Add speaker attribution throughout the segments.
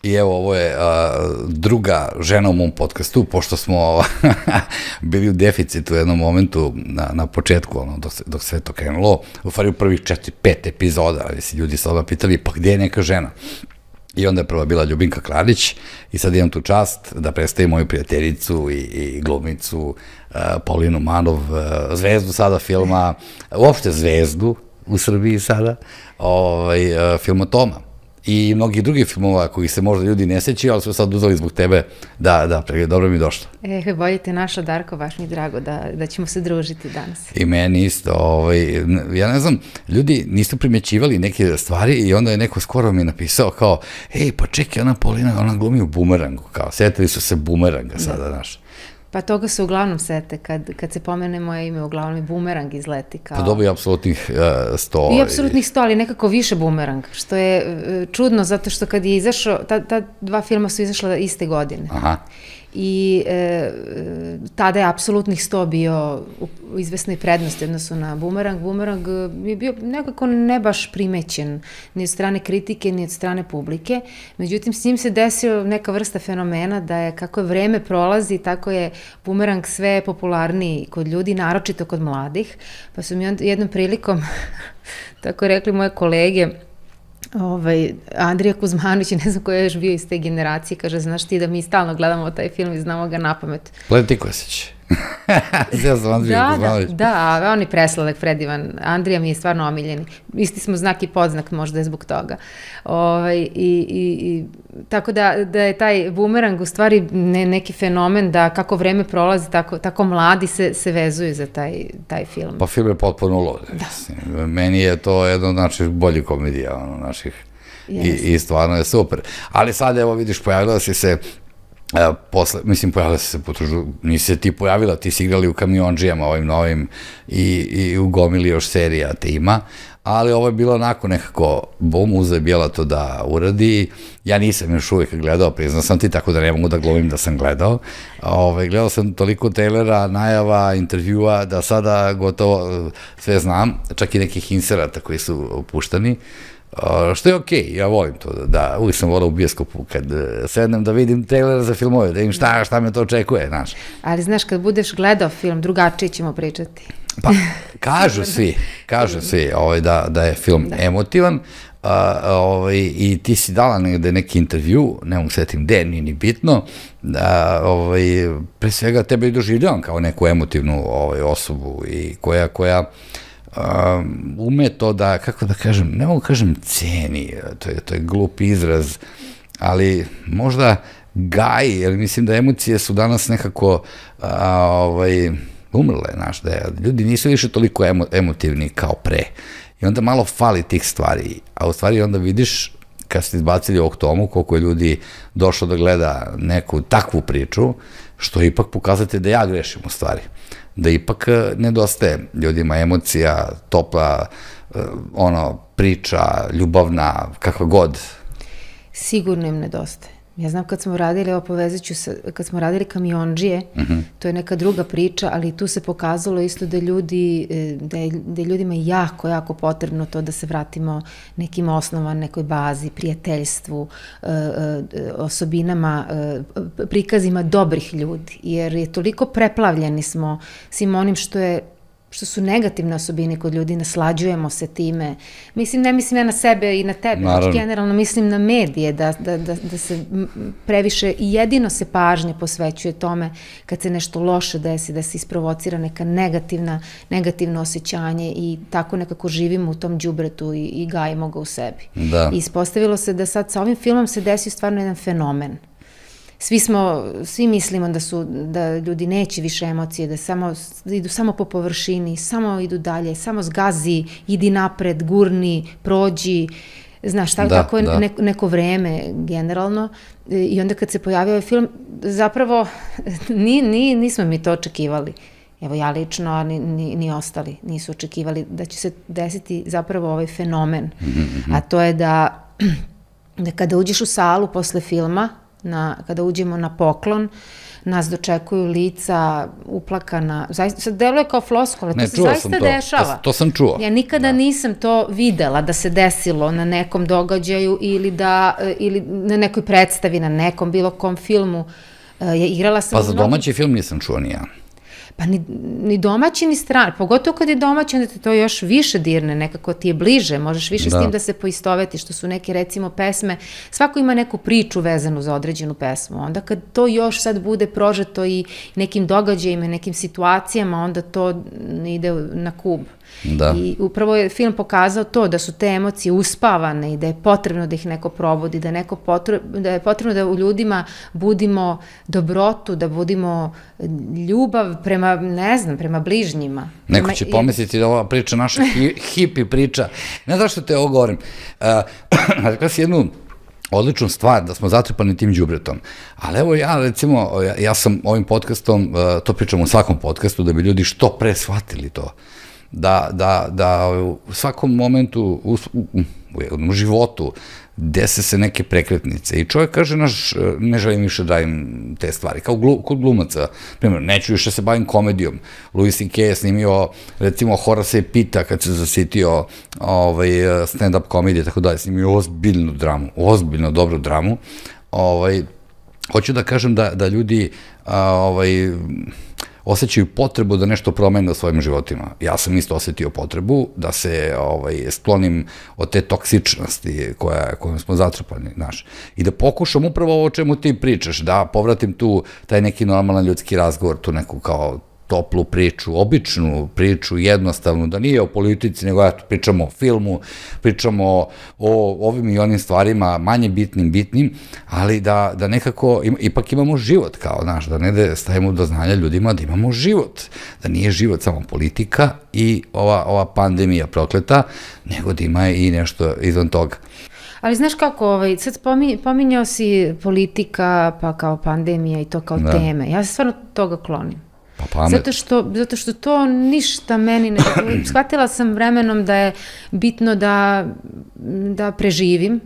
Speaker 1: I evo, ovo je druga žena u mom podcastu, pošto smo bili u deficitu u jednom momentu na početku, dok sve to krenulo, u stvari u prvih 4-5 epizoda, ali si ljudi se odmah pitali, pa gde je neka žena? I onda je prva bila Ljubinka Klarić i sad imam tu čast da predstavim moju prijateljicu i glumicu Paulinu Manov, zvezdu sada filma, uopšte zvezdu u Srbiji sada, filma Toma. I mnogi drugi filmova koji se možda ljudi ne sećaju, ali su sad uzeli zbog tebe da dobro mi došlo.
Speaker 2: Bolje te našla, Darko, baš mi drago da ćemo se družiti danas.
Speaker 1: I meni isto, ja ne znam, ljudi nisu primećivali neke stvari i onda je neko skoro mi napisao kao, pa čekaj, ona Paulina, ona glumi u Bumerangu, kao, setili su se Bumeranga sada, znaš.
Speaker 2: Pa toga se uglavnom sete, kad se pomene moje ime, uglavnom i Bumerang izleti kao...
Speaker 1: Pa dobro i apsolutnih 100.
Speaker 2: I apsolutnih 100, ali nekako više Bumerang, što je čudno, zato što kad je izašao, ta dva filma su izašla iste godine.
Speaker 1: Aha.
Speaker 2: I tada je apsolutnih 100 bio u izvesnoj prednosti odnosu na Bumerang. Bumerang je bio nekako ne baš primećen ni od strane kritike, ni od strane publike. Međutim, s njim se desio neka vrsta fenomena da je kako je vreme prolazi, tako je Bumerang sve popularniji kod ljudi, naročito kod mladih. Pa su mi jednom prilikom, tako rekli moje kolege, Andrija Kuzmanović, ne znam ko je još bio iz te generacije, kaže, znaš ti da mi stalno gledamo taj film i znamo ga na pamet.
Speaker 1: Pleti Kosić. Ja sam Andrija Kuzmanović.
Speaker 2: Da, on je preslavek predivan. Andrija mi je stvarno omiljeni. Isti smo znak i podznak, možda je zbog toga. Tako da je taj Bumerang u stvari neki fenomen da kako vreme prolazi, tako mladi se vezuju za taj film.
Speaker 1: Pa film je potpuno lud. Meni je to jedno od naših boljih komedija, naših. I stvarno je super. Ali sad, evo vidiš, pojavila si se pojavila si se nisi se ti pojavila, ti si igrali u Kamiondžijama ovim novim i u gomili još serija te ima, ali ovo je bilo onako nekako bum, uzeo je Bijela to da uradi, ja nisam još uvijek gledao, priznao sam ti, tako da ne mogu da glumim da sam gledao, gledao sam toliko trailera, najava, intervjua, da sada gotovo sve znam, čak i nekih inserata koji su puštani, što je okej, ja volim to, da uvijek sam volao u bioskopu kad sednem da vidim trailer za filmove, da vidim šta me to očekuje, znaš.
Speaker 2: Ali znaš, kad budeš gledao film, drugačije ćemo pričati.
Speaker 1: Pa, kažu svi da je film emotivan i ti si dala negde neki intervju, ne mogu setim gde, nije ni bitno, pre svega tebe i doživljavam kao neku emotivnu osobu i koja ume to da, kako da kažem, ne mogu kažem ceni, to je glup izraz, ali možda gaji, jer mislim da emocije su danas nekako umrle, znaš, da ljudi nisu više toliko emotivni kao pre. I onda malo fali tih stvari, a u stvari onda vidiš, kad ste izbacili ovog Tomu, koliko je ljudi došlo da gleda neku takvu priču, što ipak pokazate da ja grešim u stvari. Da ipak nedostaje ljudima emocija, topla, priča, ljubavna, kakva god.
Speaker 2: Sigurno im nedostaje. Ja znam kad smo radili, evo povezat ću se, kad smo radili Kamiondžije, to je neka druga priča, ali tu se pokazalo isto da je ljudima jako, jako potrebno to da se vratimo nekim osnovama, nekoj bazi, prijateljstvu, osobinama, prikazima dobrih ljudi, jer je toliko preplavljeni smo svim onim što su negativne osobine kod ljudi, naslađujemo se time. Ne mislim ja na sebe i na tebe, generalno mislim na medije, da se previše i jedino se pažnja posvećuje tome kad se nešto loše desi, da se isprovocira neka negativno osjećanje i tako nekako živimo u tom đubretu i gajimo ga u sebi. I ispostavilo se da sad sa ovim filmom se desio stvarno jedan fenomen. Svi mislimo da ljudi neće više emocije, da idu samo po površini, samo idu dalje, samo zgazi, idi napred, gurni, prođi, znaš, tako je neko vreme generalno. I onda kad se pojavio ovaj film, zapravo nismo mi to očekivali. Evo ja lično, a ni ostali nisu očekivali da će se desiti zapravo ovaj fenomen. A to je da kada uđeš u salu posle filma, kada uđemo na poklon, nas dočekuju lica uplakana, zaista, sad deluje kao floskula, to se zaista dešava.
Speaker 1: To sam čuo.
Speaker 2: Ja nikada nisam to videla da se desilo na nekom događaju ili na nekoj predstavi, na nekom bilo kom filmu. Igrala sam...
Speaker 1: Pa za domaći film nisam čuo ni ja.
Speaker 2: Pa ni domaći ni strani, pogotovo kad je domaći, onda te to još više dirne, nekako ti je bliže, možeš više s tim da se poistovetiš, što su neke recimo pesme, svako ima neku priču vezanu za određenu pesmu, onda kad to još sad bude prožeto i nekim događajima, nekim situacijama, onda to ide na kub. I upravo je film pokazao to, da su te emocije uspavane i da je potrebno da ih neko probudi, da je potrebno da u ljudima budimo dobrotu, da budimo ljubav prema, ne znam, prema bližnjima.
Speaker 1: Neko će pomisliti da ova priča, naša hipi priča, ne znaš što te ovo govorim, rekla si jednu odličnu stvar, da smo zatrpani tim đubretom. Ali evo ja, recimo, ja sam ovim podcastom, to pričam u svakom podcastu, da bi ljudi što pre shvatili to. Da u svakom momentu u životu dese se neke prekretnice i čovjek kaže, ne želim više da im te stvari, kao kod glumaca, primjer, neću više se bavim komedijom. Louis C.K. je snimio, recimo, Horace Pitta kad se zasitio stand-up komedije, tako dalje, snimio ozbiljnu dramu, ozbiljno dobru dramu. Hoću da kažem da ljudi osjećaju potrebu da nešto promene u svojim životima. Ja sam isto osjetio potrebu da se sklonim od te toksičnosti kojom smo zatrpani, znaš. I da pokušam upravo ovo o čemu ti pričaš, da povratim tu taj neki normalan ljudski razgovor, tu neku kao toplu priču, običnu priču, jednostavnu, da nije o politici, nego pričamo o filmu, pričamo o ovim i onim stvarima, manje bitnim, ali da nekako, ipak imamo život, kao, znaš, da ne stavimo do znanja ljudima da imamo život, da nije život samo politika i ova pandemija prokleta, nego da ima i nešto izvan toga.
Speaker 2: Ali znaš kako, sad pominjao si politika, pa kao pandemija i to kao teme. Ja se stvarno toga klonim. Zato što to ništa meni ne... Shvatila sam vremenom da je bitno da preživim,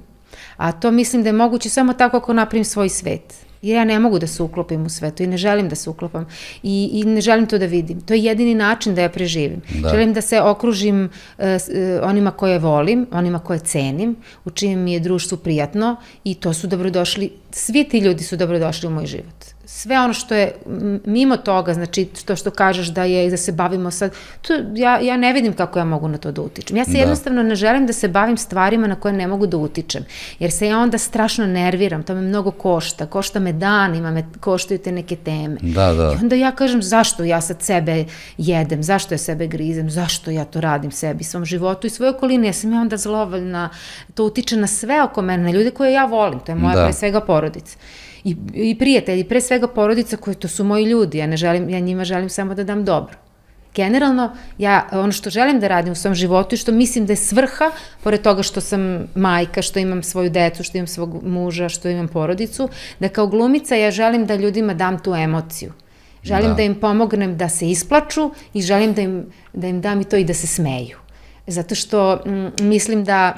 Speaker 2: a to mislim da je moguće samo tako ako napravim svoj svet. Jer ja ne mogu da se uklopim u svetu i ne želim da se uklopam i ne želim to da vidim. To je jedini način da ja preživim. Želim da se okružim onima koje volim, onima koje cenim, u čijem mi je društvu prijatno i to su dobrodošli, svi ti ljudi su dobrodošli u moj život. Sve ono što je mimo toga, znači to što kažeš da se bavimo sad, ja ne vidim kako ja mogu na to da utičem. Ja se jednostavno ne želim da se bavim stvarima na koje ne mogu da utičem, jer se ja onda strašno nerviram, to me mnogo košta me danima, me koštaju te neke teme. I onda ja kažem zašto ja sad sebe jedem, zašto ja sebe grizem, zašto ja to radim sebi, svom životu i svojoj okolini, ja sam onda zlovoljna, to utiče na sve oko mene, na ljude koje ja volim, to je moja pre svega porodica. I prijatelji, pre svega porodica koji to su moji ljudi, ja njima želim samo da dam dobro. Generalno, ono što želim da radim u svom životu i što mislim da je svrha, pored toga što sam majka, što imam svoju decu, što imam svog muža, što imam porodicu, da kao glumica ja želim da ljudima dam tu emociju. Želim da im pomognem da se isplaču i želim da im dam i to i da se smeju. Zato što mislim da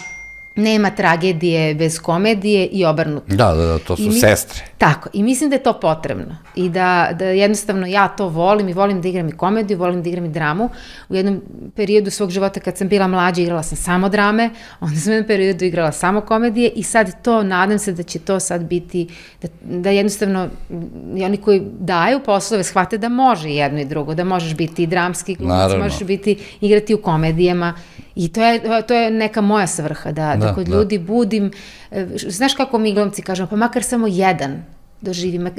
Speaker 2: nema tragedije bez komedije i obrnuto.
Speaker 1: Da, to su sestre.
Speaker 2: Tako, i mislim da je to potrebno i da jednostavno ja to volim i volim da igram i komediju, volim da igram i dramu. U jednom periodu svog života kad sam bila mlađa igrala sam samo drame, onda sam u jednom periodu igrala samo komedije i sad to, nadam se da će to sad biti, da jednostavno oni koji daju poslove shvate da može jedno i drugo, da možeš biti i dramski glumac, možeš igrati u komedijama i to je neka moja svrha, da kod ljudi budim, znaš kako mi glumci kažemo, pa makar samo jedan doživi,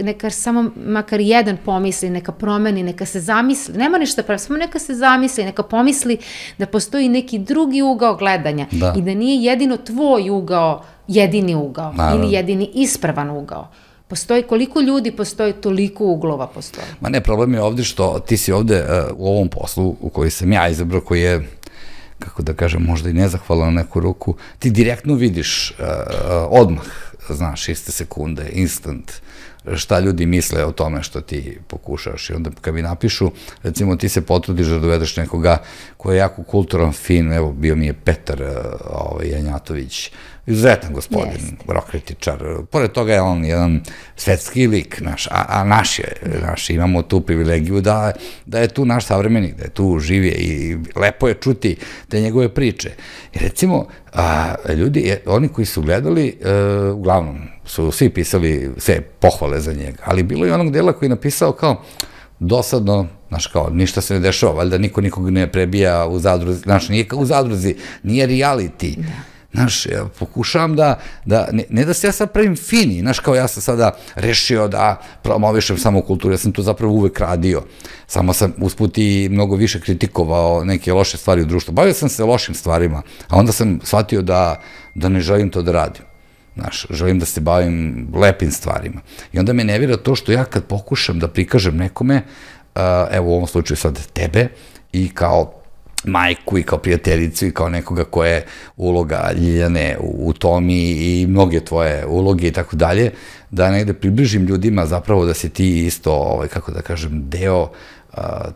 Speaker 2: makar jedan pomisli, neka promeni, neka se zamisli, nema ništa pravi, samo neka se zamisli, neka pomisli da postoji neki drugi ugao gledanja i da nije jedino tvoj ugao jedini ugao ili jedini ispravan ugao. Postoji, koliko ljudi postoji, toliko uglova postoji.
Speaker 1: Ma ne, problem je ovde što ti si ovde u ovom poslu u koji sam ja izabrao, koji je, kako da kažem, možda i nezahvalan na neku ruku, ti direktno vidiš odmah, znaš, iste sekunde, instant, šta ljudi misle o tome što ti pokušaš. I onda kad mi napišu, recimo ti se potrudiš da dovedeš nekoga ko je jako kulturan, fin, evo bio mi je Petar Janjatović, izuzetan gospodin, rokritičar. Pored toga je on jedan svetski lik naš, a naš imamo tu privilegiju da je tu naš savremenik, da je tu živije i lepo je čuti te njegove priče. I recimo, ljudi, oni koji su gledali, uglavnom su svi pisali sve pohvale za njega, ali bilo je onog dela koji je napisao kao dosadno, znaš, kao, ništa se ne dešava, valjda niko nikog ne prebija u zadruzi, znaš, nije kao u zadruzi, nije reality. Znaš, ja pokušavam ne da se ja sad pravim fini, znaš, kao ja sam sada rešio da promovišem samo kulturu, ja sam to zapravo uvek radio, samo sam usput i mnogo više kritikovao neke loše stvari u društvu, bavio sam se lošim stvarima, a onda sam shvatio da ne želim to da radim. Znaš, želim da se bavim lepim stvarima. I onda me nervira to što ja kad pokušam da prikažem nekome, evo u ovom slučaju sad tebe, i kao majku i kao prijateljicu i kao nekoga koja je uloga Ljiljane u Tomi i mnoge tvoje uloge i tako dalje, da negde približim ljudima zapravo da si ti isto, kako da kažem, deo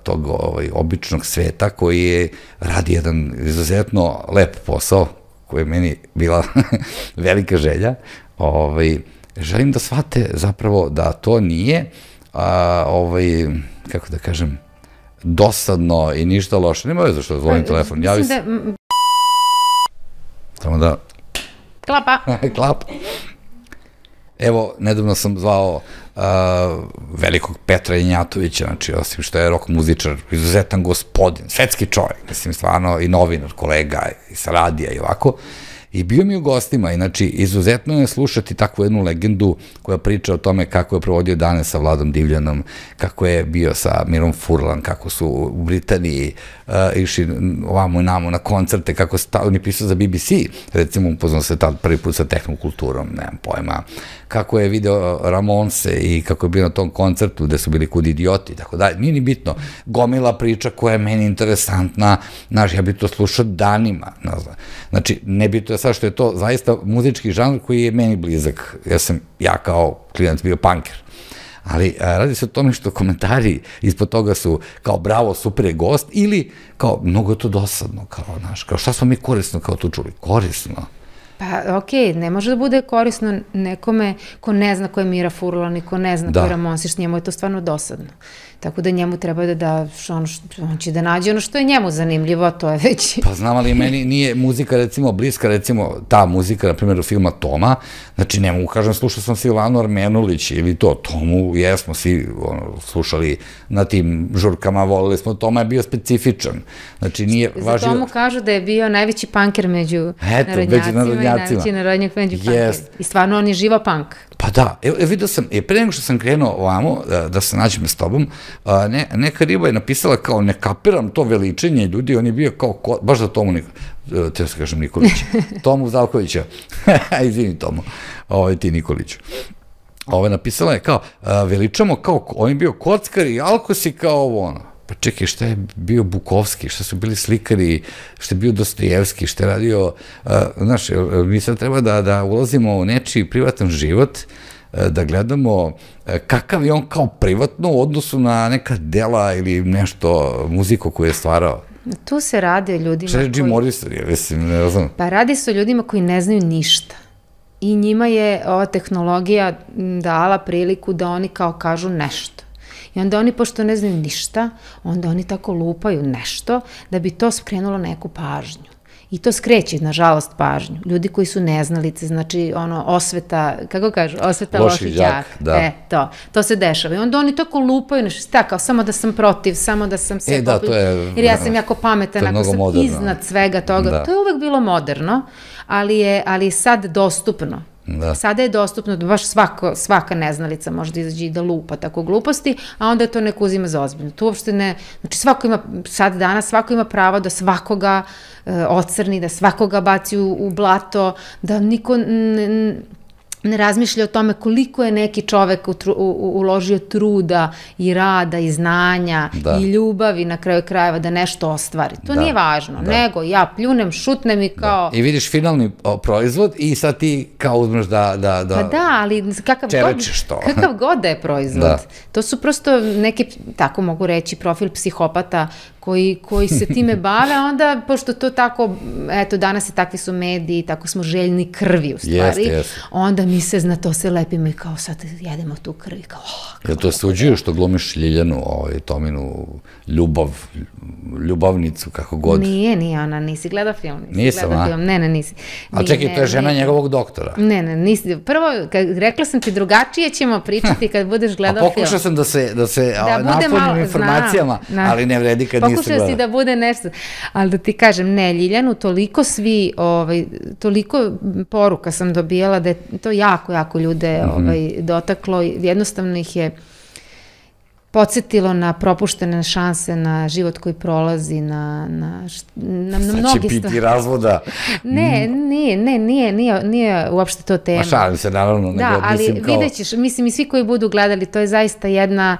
Speaker 1: tog običnog sveta koji radi jedan izuzetno lep posao, koja je meni bila velika želja. Želim da shvate zapravo da to nije, kako da kažem, dosadno i ništa loše. Nema veze što zvonim telefon. Javi se. Samo da...
Speaker 2: Klapa.
Speaker 1: Klapa. Evo, nedavno sam zvao velikog Petra Janjatovića, znači, osim što je rock muzičar, izuzetan gospodin, svetski čovjek, mislim, stvarno, i novinar, kolega, i sa radija i ovako, i bio mi u gostima, i znači, izuzetno je slušati takvu jednu legendu koja priča o tome kako je provodio dane sa Vladom Divljanom, kako je bio sa Mirom Furlan, kako su u Britaniji išli ovamo i namo na koncerte, kako on je pisao za BBC, recimo upoznao se tad prvi put sa tehnokulturom, nemam pojma, kako je video Ramonse i kako je bio na tom koncertu gde su bili kud idioti i tako dalje, nije ni bitno, gomila priča koja je meni interesantna, znaš, ja bi to slušao danima, znači, ne bi to je sad što je to zaista muzički žanr koji je meni blizak, ja kao klinac bio punker, ali radi se o tome što komentari ispod toga su kao bravo, super je gost, ili kao mnogo je to dosadno, kao, znaš, kao šta smo mi korisno kao tu čuli, korisno.
Speaker 2: Pa, okej, ne može da bude korisno nekome ko ne zna ko je Mira Furlan i ko ne zna ko je Ramonsić, njemu je to stvarno dosadno. Tako da njemu treba da daš ono što, on će da nađe ono što je njemu zanimljivo, a to je već...
Speaker 1: Pa znam, ali meni nije muzika, recimo, bliska, recimo, ta muzika, na primjer, u filma Toma, znači, ne mogu kažem, slušao sam Silvanu Armenulić ili to, Tomu, jesmo svi slušali na tim žurkama, volili smo, Toma je bio specifičan, znači, nije važio...
Speaker 2: Za Tomu kažu da je bio najveći punker među narodnjacima i najveći narodnjak među punker. I stvarno on je živa punk.
Speaker 1: Pa da, vidio sam, pre nego što sam krenuo ovamo, da se nađem s tobom, neka riba je napisala kao, ne kapiram to veličenje ljudi, on je bio kao, baš za Tomu, te se kažem Nikolić, Tomu Zavkovića, izvini Tomu, ti Nikoliću. Napisala je kao, veličamo kao, on je bio kockar i alkos i kao ovo ono. Pa čekaj, šta je bio Bukovski, šta su bili slikari, šta je bio Dostojevski, šta je radio, znaš, mi sad treba da ulazimo u nečiji privatan život, da gledamo kakav je on kao privatno u odnosu na neka dela ili nešto, muziku koju je stvarao.
Speaker 2: Tu se radi o ljudima
Speaker 1: koji... Šta je Jim Morrison, ja mislim, ne znam.
Speaker 2: Pa radi se o ljudima koji ne znaju ništa. I njima je ova tehnologija dala priliku da oni kao kažu nešto. I onda oni, pošto ne znaju ništa, onda oni tako lupaju nešto da bi to skrenulo neku pažnju. I to skreće, nažalost, pažnju. Ljudi koji su neznalice, znači, osveta, kako kažu, osveta loših đaka. To se dešava. I onda oni tako lupaju nešto, kao samo da sam protiv, samo da sam sve jer ja sam jako pametan, ako sam iznad svega toga. To je uvek bilo moderno, ali je sad dostupno. Sada je dostupno da baš svaka neznalica može da izađe i da lupa tako gluposti, a onda to neko uzima za ozbiljno. To uopšte ne, znači danas svako ima pravo da svakoga ocrni, da svakoga baci u blato, da niko ne razmišlja o tome koliko je neki čovek uložio truda i rada i znanja i ljubavi na kraju krajeva da nešto ostvari. To nije važno, nego ja pljunem, šutnem i kao...
Speaker 1: I vidiš finalni proizvod i sad ti kao uzmeš da
Speaker 2: Pa da, ali
Speaker 1: čerečiš to.
Speaker 2: Kakav god da je proizvod. To su prosto neki, tako mogu reći, profil psihopata koji se time bave, onda, pošto to tako, eto, danas i takvi su mediji, tako smo željni krvi u stvari, onda mi se na to se lepimo i kao sad jedemo tu krvi, kao
Speaker 1: Jel to suđuju što glumiš Ljiljanu, Tominu, ljubavnicu, kako god?
Speaker 2: Nije ona, nisi gledao film.
Speaker 1: Nisam, a?
Speaker 2: Ne, nisi.
Speaker 1: Ali čekaj, to je žena njegovog doktora.
Speaker 2: Ne, nisi. Prvo, rekla sam ti, drugačije ćemo pričati kad budeš gledao film.
Speaker 1: A pokušao sam da se napunim informacijama, ali ne vredi kad nisi gledao.
Speaker 2: Pokušao si da bude nešto, ali da ti kažem, ne, Ljiljanu, toliko toliko poruka sam dobijala da je to jako ljude dotaklo, jednostavno ih je podsjetilo na propuštene šanse, na život koji prolazi, na mnogi stvari.
Speaker 1: Sad će biti razvoda.
Speaker 2: Ne, nije uopšte to tema.
Speaker 1: Ma šalim se, naravno.
Speaker 2: Da, ali vidjet ćeš, mislim i svi koji budu gledali, to je zaista jedna,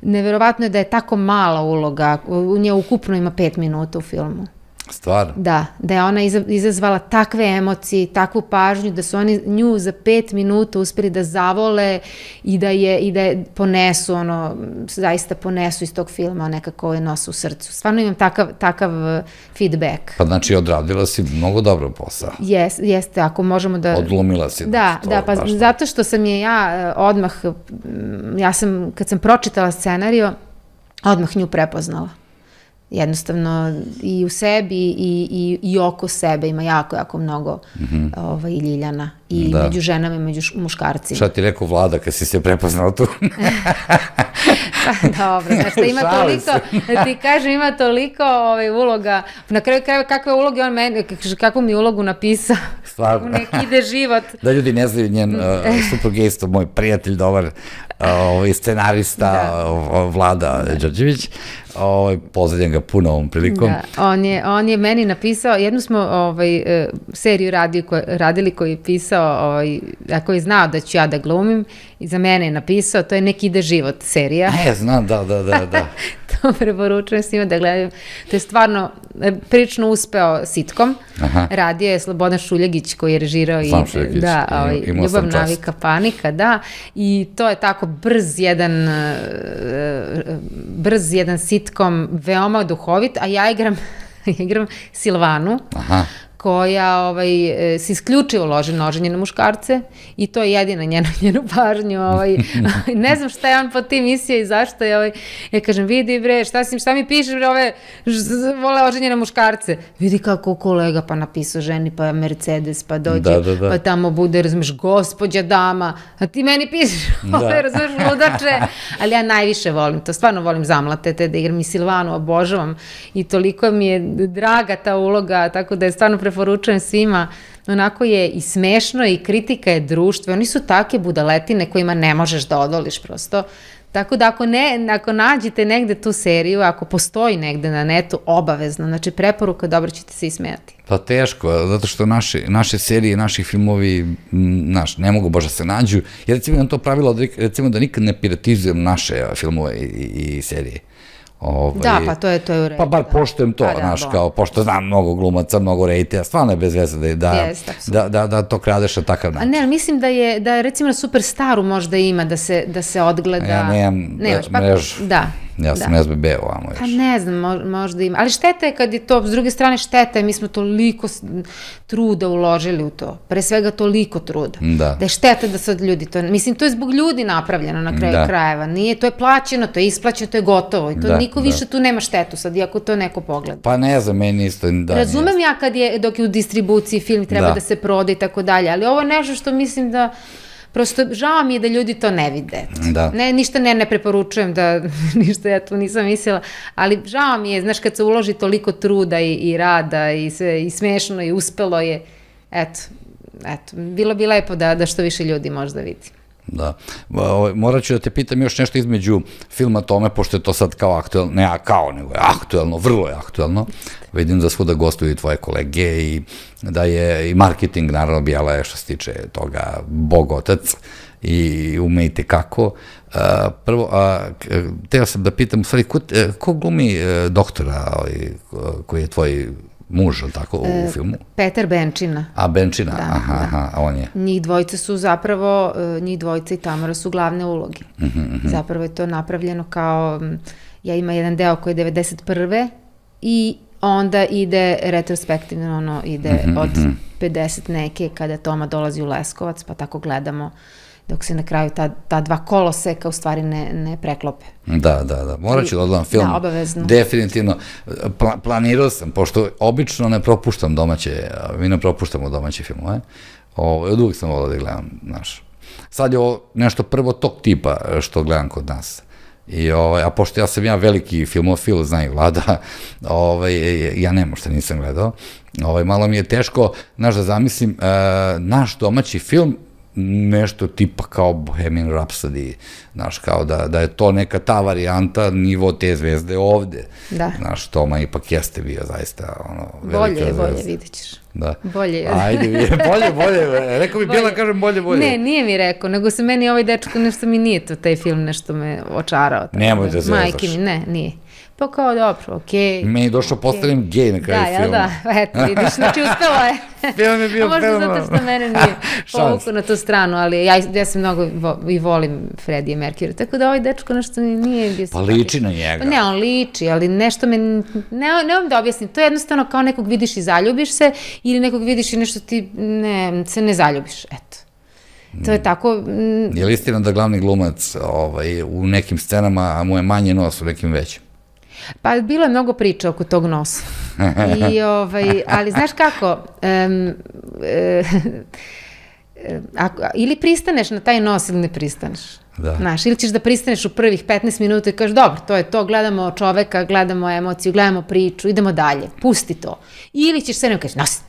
Speaker 2: neverovatno je da je tako mala uloga, u nje ukupno ima 5 minuta u filmu.
Speaker 1: Stvarno?
Speaker 2: Da je ona izazvala takve emocije, takvu pažnju, da su oni nju za 5 minuta uspeli da zavole i da je ponesu, zaista ponesu iz tog filma, nekako je nosu u srcu. Stvarno imam takav feedback.
Speaker 1: Pa znači odradila si mnogo dobro posao.
Speaker 2: Jeste, ako možemo da...
Speaker 1: Odglumila si.
Speaker 2: Da, pa zato što sam odmah, kad sam pročitala scenario, odmah nju prepoznala. Jednostavno i u sebi i oko sebe ima jako mnogo Ljiljana i među ženama i među muškarcima.
Speaker 1: Šta ti rekao Vlada kad si se prepoznao tu?
Speaker 2: Dobro, znaš da ima toliko, da ti kažem, ima toliko uloga, na kraju krajeva kakve uloge on meni, kakvu mi ulogu napisao, u neki ide život.
Speaker 1: Da ljudi ne znaju, njen suprug je isto moj prijatelj, dobar scenarista, Vlada Đorđević, pozdravljam ga puno ovom prilikom.
Speaker 2: On je meni napisao, jednu smo seriju radili koji je pisao, ako je znao da ću ja da glumim, i za mene je napisao, to je Neki ide život serija.
Speaker 1: Znam, da.
Speaker 2: To preporučujem svima da gledaju. To je stvarno prilično uspeo sitkom. Radio je Slobodan Šuljegić koji je režirao Ljubav, navika, panika, da. I to je tako brz jedan sitkom, veoma duhovit, a ja igram Silvanu, koja se isključivo loži noženje na muškarce i to je jedina njenu pažnju. Ne znam šta je on po tim misija i zašto je. Ja kažem, vidi bre, šta mi pišeš bre, vole loženje na muškarce. Vidi kako kolega pa napisao ženi, pa Mercedes, pa dođe, pa tamo bude, razumeš, gospođa dama, a ti meni pišeš, razumeš, ludače. Ali ja najviše volim to, stvarno volim zamlatete, da igram i Silvanu, obožavam i toliko mi je draga ta uloga, tako da je stvarno preporučujem svima, onako je i smešno i kritika je društvo, oni su take budaletine kojima ne možeš da odoliš prosto, tako da ako nađete negde tu seriju, ako postoji negde na netu, obavezno, znači preporuka, dobro ćete se ismejati.
Speaker 1: Pa teško, zato što naše serije, naši filmovi, ne mogu baš da se nađu, jer recimo imam to pravilo, recimo da nikad ne piratizujem naše filmove i serije.
Speaker 2: Da, pa to je u redu.
Speaker 1: Pa bar poštujem to, znaš, kao, pošto znam mnogo glumaca, mnogo rejtija, stvarno je bez veze da to kradeš na takav način.
Speaker 2: A ne, ali mislim da je recimo na Superstaru možda ima da se odgleda.
Speaker 1: Ja nemam mrežu. Ja sam SBB ovamo još.
Speaker 2: Pa ne znam, možda ima. Ali šteta je kad je to, s druge strane šteta je, mi smo toliko truda uložili u to. Pre svega toliko truda. Da je šteta da sad ljudi to, mislim, to je zbog ljudi napravljeno na kraju krajeva. Nije, to je plaćeno, to je isplaćeno, to je gotovo. I to niko više tu nema štetu sad, iako to neko pogleda.
Speaker 1: Pa ne znam, meni isto.
Speaker 2: Razumem ja dok je u distribuciji film treba da se proda i tako dalje, ali ovo je nešto što mislim da prosto žao mi je da ljudi to ne vide. Ništa ne preporučujem da, ništa ja tu nisam mislila, ali žao mi je, znaš, kad se uloži toliko truda i rada i smešno i uspelo je, eto, bilo bi lepo da što više ljudi možda vidi.
Speaker 1: Da. Morat ću da te pitam još nešto između filma Tome, pošto je to sad kao aktuelno, ne kao, nego je aktuelno, vrlo je aktuelno. Vidim da svuda gostuju i tvoje kolege i da je i marketing, naravno, Bijela je što se tiče toga bog otac i umejte kako. Prvo, teo sam da pitam, u stvari, ko glumi doktora koji je tvoj muž, ili tako, u filmu?
Speaker 2: Petar Benčina.
Speaker 1: A, Benčina, aha, on je.
Speaker 2: Njih dvojica su zapravo, njih dvojica i Tamara su glavne uloge. Zapravo je to napravljeno kao, ima jedan deo koji je 91. i onda ide retrospektivno, ide od 50 neke kada Toma dolazi u Leskovac, pa tako gledamo dok se na kraju ta dva koloseka u stvari ne preklope.
Speaker 1: Da. Morat ću da odgledam film.
Speaker 2: Da, obavezno.
Speaker 1: Definitivno. Planirao sam, pošto obično ne propuštam domaće, mi ne propuštamo domaće filmove. Od uvijek sam volao da gledam naš. Sad je ovo nešto prvo tog tipa što gledam kod nas. A pošto ja sam veliki filmofil, zna i Vlada, ja nema što nisam gledao. Malo mi je teško, da zamislim, naš domaći film nešto tipa kao Bohemian Rhapsody, kao da je to neka ta varijanta, nivo te zvezde ovde.
Speaker 2: Da.
Speaker 1: Toma ipak jeste bio zaista
Speaker 2: velika zvezda. Bolje, vidit ćeš.
Speaker 1: Da.
Speaker 2: Bolje.
Speaker 1: Ajde, bolje. Rekao mi Bila, kažem bolje.
Speaker 2: Ne, nije mi rekao, nego se meni ovaj dečko, nešto mi nije to, taj film nešto me očarao.
Speaker 1: Nemoj da zvezaš.
Speaker 2: Majke mi, ne, nije. Pa kao dobro, okej.
Speaker 1: Meni je došao postavljen gej na kraju filma.
Speaker 2: Da, eto, vidiš, znači uspelo je.
Speaker 1: Film je bio fenomenalno.
Speaker 2: Možda zato što mene nije povukao na tu stranu, ali ja se mnogo i volim Freddie Mercury, tako da ovaj dečko nešto nije bio...
Speaker 1: Pa liči na njega.
Speaker 2: Pa ne, on liči, ali nešto me... Ne vam da objasnim, to je jednostavno kao nekog vidiš i zaljubiš se, ili nekog vidiš i nešto ti se ne zaljubiš, eto. To je tako...
Speaker 1: Je li istina da glavni glumac u nekim scenama, a mu je manje nos u nekim većim?
Speaker 2: Pa bilo je mnogo priča oko tog nosa. Ali znaš kako, ili pristaneš na taj nos ili ne pristaneš. Znaš, ili ćeš da pristaneš u prvih 15 minuta i kažeš, dobro, to je to, gledamo čoveka, gledamo emociju, gledamo priču, idemo dalje, pusti to. Ili ćeš sve kažeš, nos.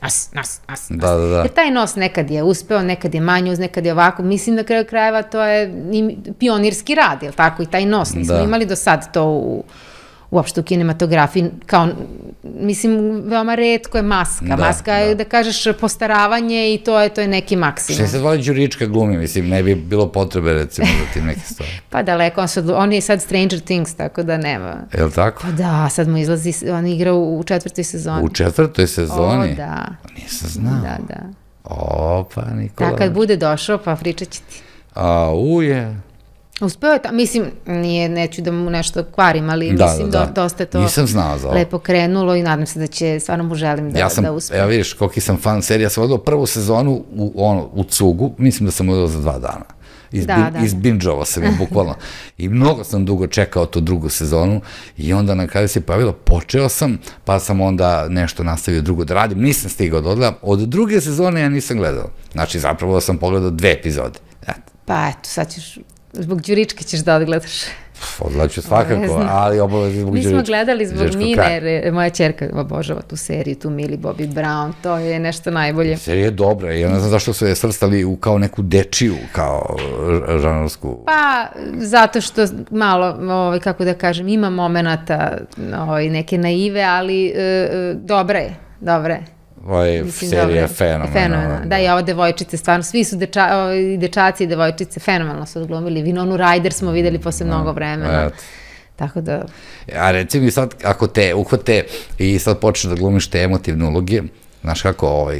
Speaker 2: Jer taj nos nekad je uspeo, nekad je manje uz, nekad je ovako. Mislim, na kraju krajeva to je pionirski rad, jel tako, i taj nos. Nismo imali do sad to uopšte u kinematografiji, kao, mislim, veoma retko je maska. Maska je, da kažeš, postaravanje i to je neki maksimum.
Speaker 1: Što se zvali Đurička glumi, mislim, ne bi bilo potrebe, recimo, za tim neke stvari.
Speaker 2: Pa daleko, on je sad Stranger Things, tako da nema.
Speaker 1: Je li tako?
Speaker 2: Pa da, sad mu izlazi, on igra u 4. sezoni.
Speaker 1: U 4. sezoni?
Speaker 2: O, da.
Speaker 1: Nisam znao.
Speaker 2: Da.
Speaker 1: O, pa Nikola.
Speaker 2: Da, kad bude došao, pa pričat će ti.
Speaker 1: Uje.
Speaker 2: Uspeo je, mislim, neću da mu nešto kvarim, ali mislim dosta je to lepo krenulo i nadam se da će, stvarno mu želim da uspije.
Speaker 1: Ja vidiš koliki sam fan serija, sam odao prvu sezonu u cugu, mislim da sam odao za 2 dana. Izbinđovao sam je bukvalno. I mnogo sam dugo čekao tu drugu sezonu i onda na kraju se pojavilo, počeo sam, pa sam onda nešto nastavio drugo da radim, nisam stigao da odgledam. Od druge sezone ja nisam gledao. Znači, zapravo sam pogledao 2 epizode.
Speaker 2: Pa eto, sad ćeš... Zbog Đuričke ćeš da odgledaš.
Speaker 1: Odgledaću svakako, ali obavezno zbog Đuričke.
Speaker 2: Mi smo gledali zbog Mine, jer moja ćerka obožava tu seriju, tu Millie Bobby Brown, to je nešto najbolje.
Speaker 1: Serija je dobra, ja ne znam zašto su je svrstali kao neku dečiju, kao žanrovsku.
Speaker 2: Pa, zato što malo, kako da kažem, ima momenata neke naive, ali dobra je.
Speaker 1: Serija je fenomenalna.
Speaker 2: Da, i ova devojčice, stvarno, svi su dečaci i devojčice fenomenalno su odglumili. Winonu Ryder smo videli posle mnogo vremena. Tako da...
Speaker 1: A recimo i sad, ako te uhvate i sad počneš da glumiš te emotivne uloge, znaš kako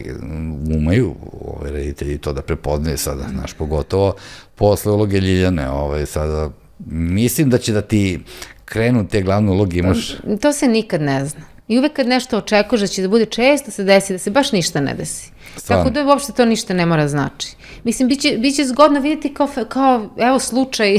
Speaker 1: umeju reditelji to da prepoznaju sada, znaš, pogotovo posle uloge Ljiljane, sada, mislim da će da ti krenu te glavne uloge, imaš...
Speaker 2: To se nikad ne zna. I uvek kad nešto očekuješ da će da bude često se desi, da se baš ništa ne desi. Tako da uopšte to ništa ne mora znači. Mislim, bit će zgodno vidjeti kao evo, slučaj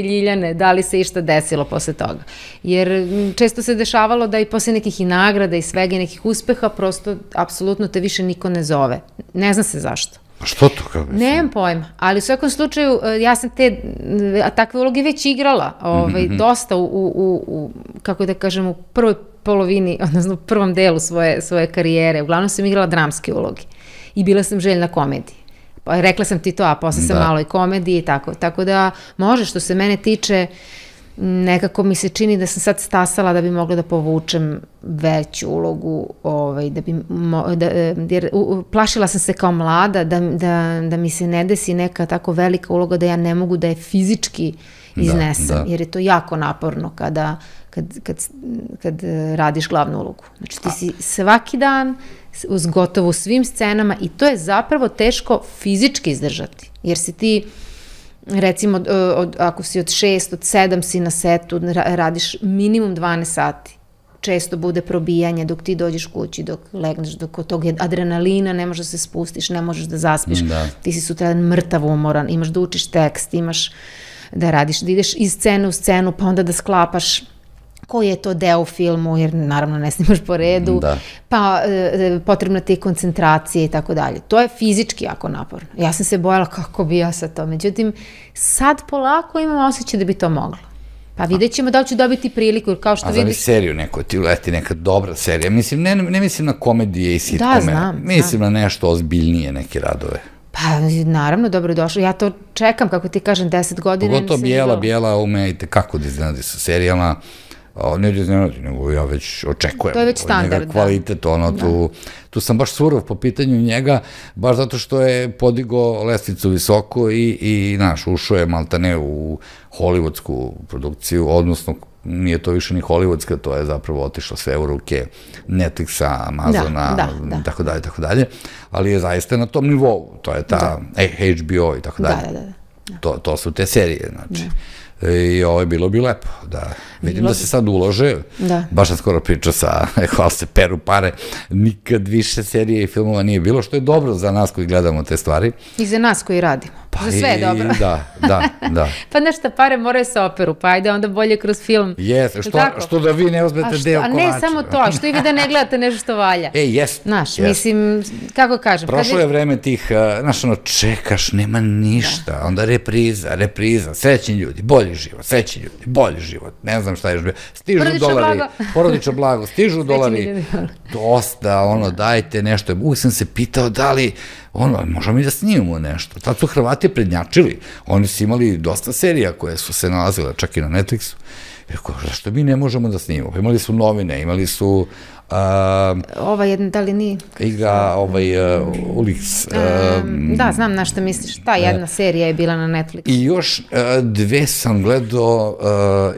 Speaker 2: Ljiljane, da li se išta desilo posle toga. Jer često se dešavalo da i posle nekih i nagrada i svega i nekih uspeha, prosto, apsolutno te više niko ne zove. Ne zna se zašto.
Speaker 1: A što to kao mislim?
Speaker 2: Nemam pojma, ali u svakom slučaju ja sam takve uloge već igrala, dosta kako da kažem, u prvoj polovini, odnosno u prvom delu svoje karijere. Uglavnom sam igrala dramske uloge i bila sam željna komedije. rekla sam ti to, a posle sam malo i komedije i tako. Tako da može, što se mene tiče, nekako mi se čini da sam sad stasala da bi mogla da povučem veću ulogu, jer plašila sam se kao mlada da mi se ne desi neka tako velika uloga da ja ne mogu da je fizički iznesem, jer je to jako naporno kad radiš glavnu ulogu. Znači ti si svaki dan uz gotovo svim scenama i to je zapravo teško fizički izdržati, jer si ti recimo, ako si od 6, od 7 si na setu, radiš minimum 12 sati. Često bude probijanje dok ti dođeš kući, dok legneš, dok od tog adrenalina ne možeš da se spustiš, ne možeš da zaspiš. Ti si sutradan mrtav umoran, imaš da učiš tekst, imaš da radiš, da ideš iz scene u scenu, pa onda da sklapaš koji je to deo u filmu, jer naravno ne snimaš po redu, pa potrebna ti je koncentracija i tako dalje. To je fizički jako naporno. Ja sam se bojala kako bi ja sad to. Međutim, sad polako imam osjećaj da bi to mogla. Pa vidjet ćemo da li ću dobiti priliku, jer kao što vidiš... A zamisli
Speaker 1: seriju neko, ti uleti neka dobra serija. Mislim, ne mislim na komedije i sitkome.
Speaker 2: Da, znam.
Speaker 1: Mislim na nešto ozbiljnije, neke radove.
Speaker 2: Pa, naravno, dobrodošlo. Ja to čekam, kako ti kažem, 10 godina.
Speaker 1: Pogotovo Bijela umejte kako da iznenadi sa serijama. Ne da iznenadi, nego ja već očekujem.
Speaker 2: To je već standard, da.
Speaker 1: Kvalitet, tu sam baš surov po pitanju njega, baš zato što je podigo lestvicu visoko i ušao je maltane u hollywoodsku produkciju, odnosno nije to više ni hollywoodska, to je zapravo otišlo sve u ruke Netflixa, Amazona, tako dalje, ali je zaista na tom nivou, to je ta HBO i tako dalje. To su te serije, znači. I ovo je bilo bi lepo, da vidim da se sad ulože, baš sam skoro pričao sa, hvala se, peru pare, nikad više serije i filmova nije bilo, što je dobro za nas koji gledamo te stvari.
Speaker 2: I za nas koji radimo, za sve je dobro.
Speaker 1: Da.
Speaker 2: Pa nešto, pare moraju se operu, pa ajde onda bolje kroz film.
Speaker 1: Jeste, što da vi ne uzmete deo konača.
Speaker 2: A ne samo to, a što i vi da ne gledate nešto što valja.
Speaker 1: Jest.
Speaker 2: Znaš, mislim, kako kažem.
Speaker 1: Prošlo je vreme tih, znaš, čekaš, nema ništa, onda repriza, srećni ljudi, bolji život, ne znam šta je još bio, stižu dolari, porodično blago, stižu dolari, dosta, dajte nešto, uvijek sam se pitao da li, možemo mi da snimamo nešto, tad su Hrvati prednjačili, oni su imali dosta serija koje su se nalazile čak i na Netflixu, zašto mi ne možemo da snimamo, imali su novine, imali su
Speaker 2: ova jedna, da li nije?
Speaker 1: Igra Ulix.
Speaker 2: Da, znam na što misliš. Ta jedna serija je bila na Netflixu.
Speaker 1: I još dve sam gledao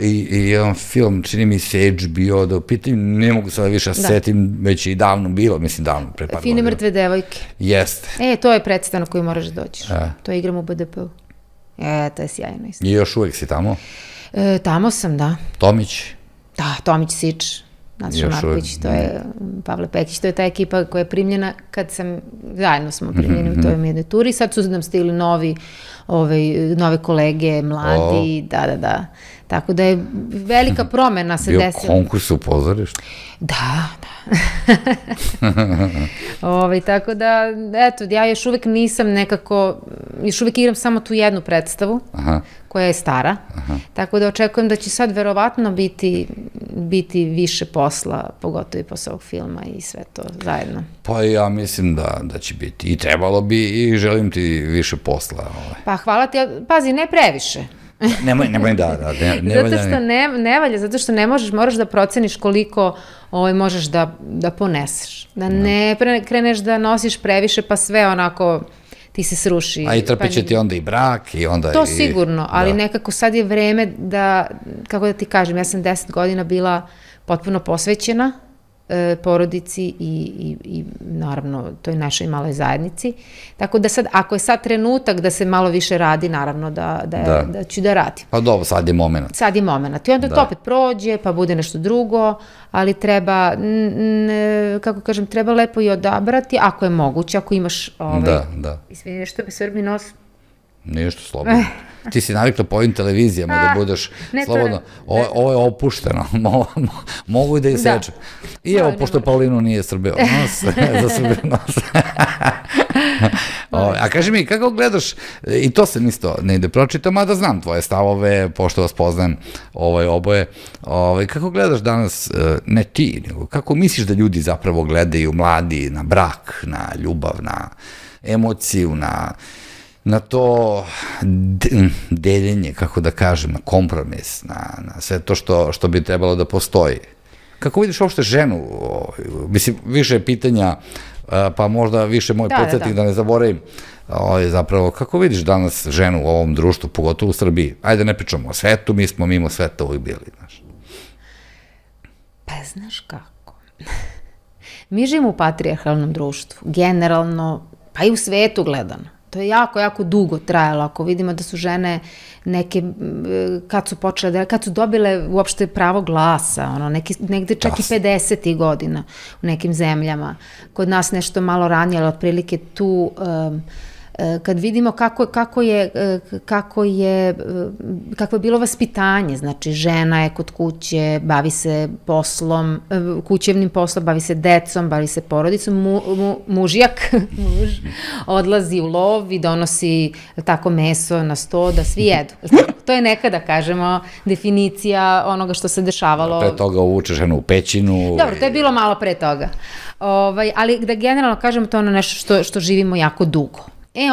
Speaker 1: i jedan film, čini mi se HBO, da u pitanju, ne mogu sada više setim, već i davno bilo, mislim davno, pre par godina.
Speaker 2: Fine mrtve devojke.
Speaker 1: Jeste.
Speaker 2: To je predstava na koju moraš da dođeš. To igram u BDP-u. To je sjajno isto.
Speaker 1: I još uvek si tamo?
Speaker 2: Tamo sam, da.
Speaker 1: Tomić?
Speaker 2: Da, Tomić Sič. Nataša Marković, to je Pavle Pekić, to je ta ekipa koja je primljena kad zajedno smo primljeni u toj jednoj turi, sad su nam stigli nove kolege, mladi, da. Tako da je velika promena se desila.
Speaker 1: Bio konkurs u pozorištu?
Speaker 2: Da. Tako da, eto, ja još uvek nisam nekako, još uvek igram samo tu jednu predstavu, koja je stara, tako da očekujem da će sad verovatno biti više posla, pogotovo i posle ovog filma i sve to zajedno.
Speaker 1: Pa ja mislim da će biti i trebalo bi i želim ti više posla.
Speaker 2: Pa hvala ti, pazi, ne previše.
Speaker 1: Nemoj da.
Speaker 2: Zato što ne valja, zato što ne možeš, moraš da proceniš koliko možeš da poneseš. Da ne kreneš da nosiš previše, pa sve onako ti se sruši.
Speaker 1: A i trpeće ti onda i brak i onda...
Speaker 2: To sigurno, ali nekako sad je vreme da, kako da ti kažem, ja sam 10 godina bila potpuno posvećena porodici i naravno toj našoj maloj zajednici. Tako da sad, ako je sad trenutak da se malo više radi, naravno da ću da radim.
Speaker 1: Pa dobro, sad je moment.
Speaker 2: Sad je moment. I onda to opet prođe, pa bude nešto drugo, ali treba, kako kažem, treba lepo i odabrati, ako je moguće, ako imaš...
Speaker 1: Da.
Speaker 2: Izvini, što bi srbi nos...
Speaker 1: Ništa, slobodno. Ti si navikla po ovim televizijama da budeš slobodno. Ovo je opušteno. Mogu i da ih sečem. I evo, pošto Paulinu nije srbeo nos, za srbeo nos. A kaži mi, kako gledaš, i to se isto ne ide pročitam, mada znam tvoje stavove, pošto vas poznajem oboje, kako gledaš danas, ne ti, nego kako misliš da ljudi zapravo gledaju, mladi, na brak, na ljubav, na... emociju, na to deljenje, kako da kažem, na kompromis, na sve to što bi trebalo da postoji. Kako vidiš uopšte ženu? Mislim, više pitanja, pa možda više moj podsjetnik da ne zaboravim. Zapravo, kako vidiš danas ženu u ovom društvu, pogotovo u Srbiji? Ajde, ne pričamo o svetu, mi smo mimo sveta uvijek bili, znaš.
Speaker 2: Pa znaš kako? Mi živimo u patrijarhalnom društvu, generalno, pa i u svetu gledano. To je jako, jako dugo trajalo. Ako vidimo da su žene neke, kad su počele, kad su dobile uopšte pravo glasa, negde čak i 50. godina u nekim zemljama. Kod nas nešto malo ranije, ali otprilike tu, kad vidimo kako je bilo vaspitanje, znači žena je kod kuće, bavi se poslom, kućevnim poslom, bavi se decom, bavi se porodicom, muž odlazi u lov i donosi tako meso na sto da svi jedu. To je nekada, kažemo, definicija onoga što se dešavalo.
Speaker 1: Pre toga uvuče ženu u pećinu.
Speaker 2: Dobro, to je bilo malo pre toga. Ali da generalno kažemo, to je ono nešto što živimo jako dugo.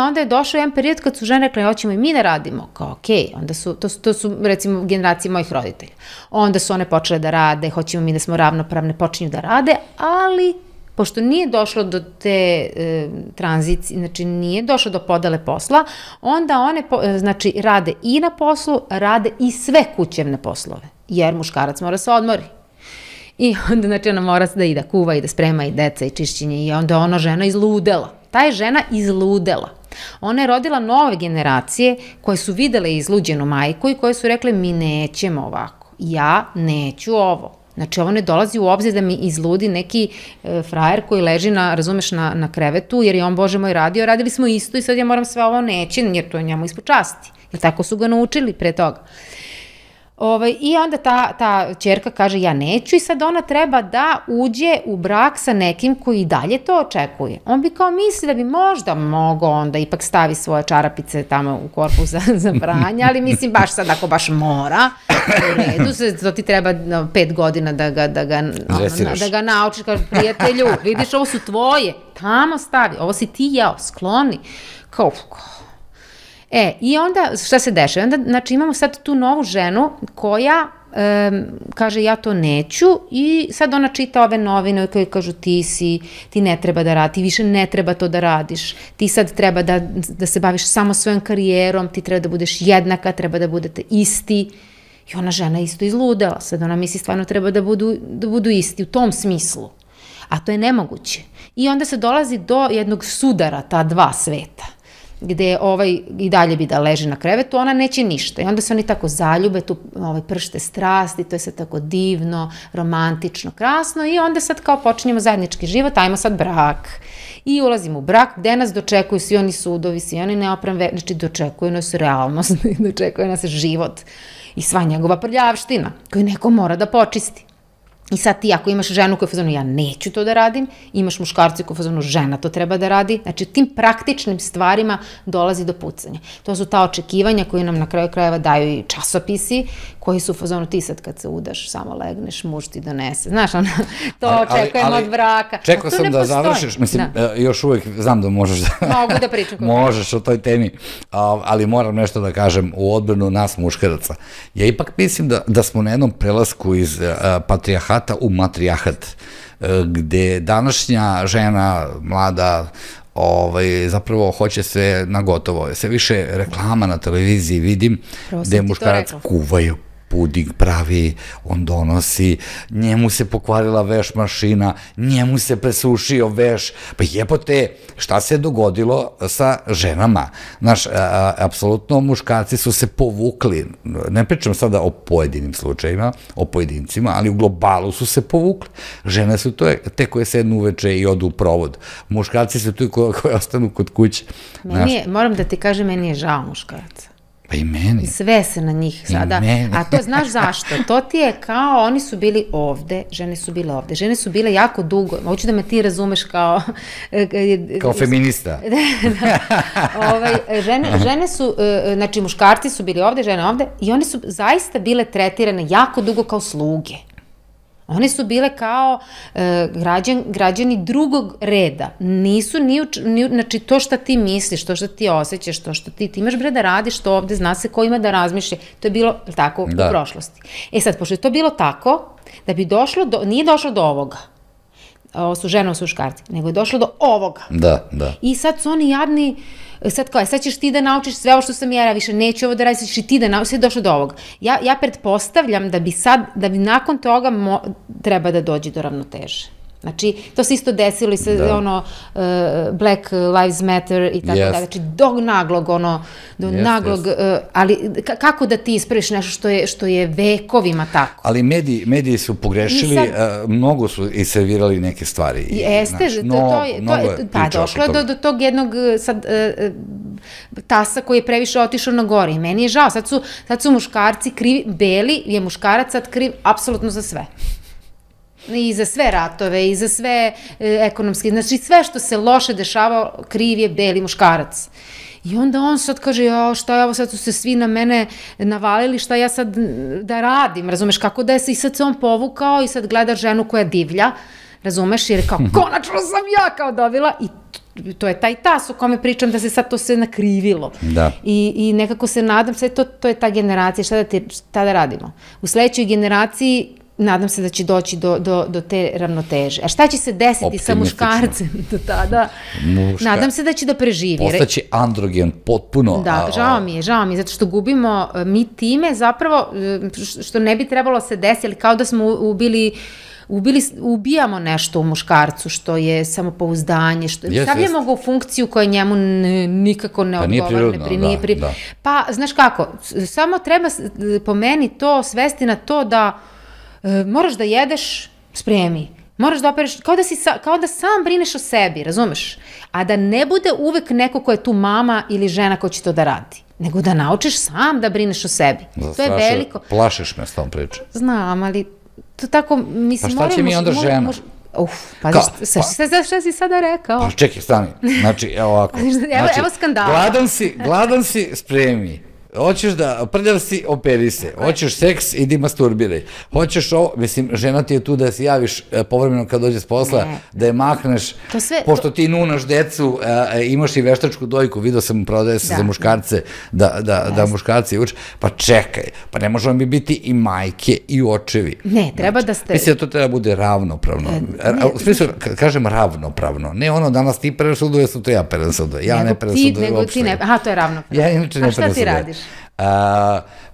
Speaker 2: Onda je došao jedan period kad su žene rekli, hoćemo i mi da radimo, kao okej, onda to su recimo generacije mojih roditelja. Onda su one počele da rade, hoćemo mi da smo ravnopravne, počinju da rade, ali pošto nije došlo do te tranzicije, znači nije došlo do podele posla, onda one, znači, rade i na poslu, rade i sve kućevne poslove, jer muškarac mora se odmori. I onda, znači, ona mora da i da kuva i da sprema i deca i čišćenje i onda ona žena izludela. Ta je žena izludela. Ona je rodila nove generacije koje su videle izluđenu majku i koje su rekle mi nećemo ovako, ja neću ovo. Znači ovo ne dolazi u obzir da mi izludi neki frajer koji leži razumeš, na krevetu jer je on, Bože moj, radio, radili smo isto i sad ja moram sve ovo nećem jer to je njemu ispod časti. Jer tako su ga naučili pre toga. I onda ta ćerka kaže ja neću i sad ona treba da uđe u brak sa nekim koji i dalje to očekuje. On bi kao misli da bi možda mogao onda ipak stavi svoje čarapice tamo u korpu za pranje, ali mislim baš sad ako baš mora, u redu, to ti treba 5 godina da ga naučiš, kaže prijatelju, vidiš ovo su tvoje, tamo stavi, ovo si ti jeo, skloni, kao i onda, šta se dešava? Onda, znači, imamo sad tu novu ženu koja kaže ja to neću i sad ona čita ove novine koje kažu ti ne treba da radi, ti više ne treba to da radiš, ti sad treba da se baviš samo svojom karijerom, ti treba da budeš jednaka, treba da budete isti. I ona žena isto izludela, sad ona misli stvarno treba da budu isti u tom smislu, a to je nemoguće. I onda se dolazi do jednog sudara ta dva sveta, gde i dalje bi da leži na krevetu, ona neće ništa. I onda se oni tako zaljube, tu pršte strasti, to je sad tako divno, romantično, krasno i onda sad kao počinjemo zajednički život, ajmo sad brak. I ulazimo u brak, gde nas dočekuju svi oni sudovi, svi oni neopremve, znači dočekuju nas realnost, dočekuje nas život i sva njegova prljavština koju neko mora da počisti. I sad ti ako imaš ženu koja je fazonu ja neću to da radim, imaš muškarci koja je fazonu žena to treba da radi, znači tim praktičnim stvarima dolazi do pucanja. To su ta očekivanja koje nam na kraju krajeva daju i časopisi koji su u fazonu ti sad kad se udaš samo legneš, muž ti donese. Znaš, to očekujemo od braka.
Speaker 1: Čekao sam da završiš, mislim, još uvijek znam da možeš da...
Speaker 2: Mogu da pričam.
Speaker 1: Možeš o toj temi, ali moram nešto da kažem u odbranu nas muškaraca. Ja ipak mislim da smo na jednom prelasku iz patrijarhata u matrijarhat, gde današnja žena, mlada, zapravo hoće sve na gotovo. Sve više reklama na televiziji vidim, gde muškarac kuvaju, puding pravi, on donosi, njemu se pokvarila veš mašina, njemu se presušio veš, pa jebote, šta se dogodilo sa ženama? Znaš, apsolutno muškarci su se povukli, ne pričam sada o pojedinim slučajima, o pojedincima, ali u globalu su se povukli. Žene su te koje sednu uveče i odu u provod. Muškarci su tu koje ostanu kod kuće.
Speaker 2: Moram da ti kažem, meni je žao muškaraca.
Speaker 1: Pa i meni.
Speaker 2: Sve se na njih sada, a to znaš zašto? To ti je kao, oni su bili ovde, žene su bile ovde, žene su bile jako dugo, hoću da me ti razumeš kao...
Speaker 1: Kao feminista.
Speaker 2: Žene su, znači muškarci su bili ovde, žene ovde i one su zaista bile tretirane jako dugo kao sluge. One su bile kao građani drugog reda. Nisu znači to što ti misliš, to što ti osjećaš, to što ti imaš bre da radiš to ovde, zna se ko ima da razmišlja. To je bilo tako u prošlosti. Sad, pošto je to bilo tako, da bi nije došlo do ovoga, ovo su žene, ovo su muškarci, nego je došlo do ovoga.
Speaker 1: Da.
Speaker 2: I sad su oni jadni, sad ćeš ti da naučiš sve ovo što sam ja više neću ovo da radiš, sad ćeš i ti da naučiš, sve je došlo do ovoga. Ja pretpostavljam da bi nakon toga treba da dođe do ravnoteže. Znači, to se isto desilo i sa Black Lives Matter i tako da. Znači, do naglog, ali kako da ti ispraviš nešto što je vekovima tako?
Speaker 1: Ali mediji su pogrešili, mnogo su i servirali neke stvari.
Speaker 2: Jeste, pa došlo je do tog jednog tasa koji je previše otišao na gore i meni je žao, sad su muškarci krivi, beli je muškarac sad kriv apsolutno za sve. I za sve ratove, i za sve ekonomske, znači sve što se loše dešava, kriv je beli muškarac. I onda on sad kaže, šta je ovo, sad su se svi na mene navalili, šta ja sad da radim, razumeš, kako da je se i sad se on povukao i sad gleda ženu koja divlja, razumeš, jer je kao, konačno sam ja kao dobila i to je taj tas o kome pričam da se sad to sve nakrivilo. I nekako se nadam, sve to je ta generacija, šta da radimo? U sledećoj generaciji nadam se da će doći do te ravnoteže. A šta će se desiti sa muškarcem do tada? Nadam se da će da preživi.
Speaker 1: Postaće androgen potpuno.
Speaker 2: Da, žao mi je, zato što gubimo mi time zapravo, što ne bi trebalo se desiti, ali kao da smo ubijamo nešto u muškarcu, što je samopouzdanje, stavljamo ga u funkciju koja njemu nikako ne odgovara. Pa, znaš kako, samo treba po meni to svesti na to da moraš da jedeš, spremi. Moraš da opereš, kao da sam brineš o sebi, razumeš? A da ne bude uvek neko ko je tu mama ili žena ko će to da radi. Nego da naučiš sam da brineš o sebi. To je veliko.
Speaker 1: Plašiš me s tom pričom.
Speaker 2: Znam, ali to tako, mislim...
Speaker 1: Pa šta će mi onda žena?
Speaker 2: Šta si sada rekao?
Speaker 1: Pa čekaj, stani. Znači, evo ovako.
Speaker 2: Evo skandala.
Speaker 1: Gladan si, spremi. Hoćeš da, prljav si, operi se. Hoćeš seks, idi masturbiraj. Hoćeš ovo, mislim, žena ti je tu da se javiš povremeno kad dođe s posla, da je mahneš, pošto ti nunaš decu, imaš i veštačku dojku, vidio sam prodaje se za muškarce, da muškarci uče, pa čekaj, pa ne možemo mi biti i majke i očevi.
Speaker 2: Ne, treba da ste...
Speaker 1: Mislim da to treba bude ravnopravno. U smislu, kažem ravnopravno, ne ono danas ti pereš sudove, su to ja perem sudove, ja ne perem sudove uopšte.
Speaker 2: Aha, to je ravnopravno.
Speaker 1: Ja inače ne perem sudove. A šta ti radiš?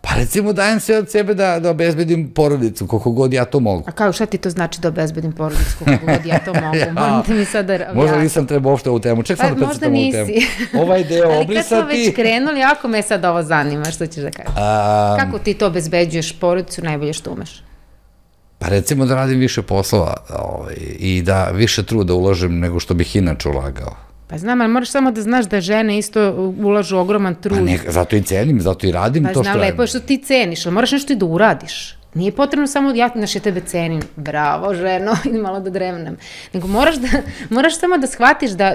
Speaker 1: Pa recimo dajem se od sebe da obezbedim porodicu, koliko god ja to mogu.
Speaker 2: A kao šta ti to znači da obezbedim porodicu, koliko god ja to mogu? Možete mi sad da...
Speaker 1: Možda nisam trebao uopšte ovu temu, ček sam da predstavim ovu temu. Možda nisi. Ovaj deo obrisati... Ali kad smo već
Speaker 2: krenuli, jako me sad ovo zanima, što ćeš da kažeš? Kako ti to obezbeđuješ porodicu, najbolje što umeš?
Speaker 1: Pa recimo da radim više poslova i da više truda uložim nego što bih inače ulagao.
Speaker 2: Pa znam, ali moraš samo da znaš da žene isto ulažu ogroman trud.
Speaker 1: Zato i cenim, zato i radim to što radim.
Speaker 2: Pa znam, lepo je što ti ceniš, ali moraš nešto i da uradiš. Nije potrebno samo, ja tebe cenim, bravo ženo, i malo da drevnem. Nego moraš samo da shvatiš da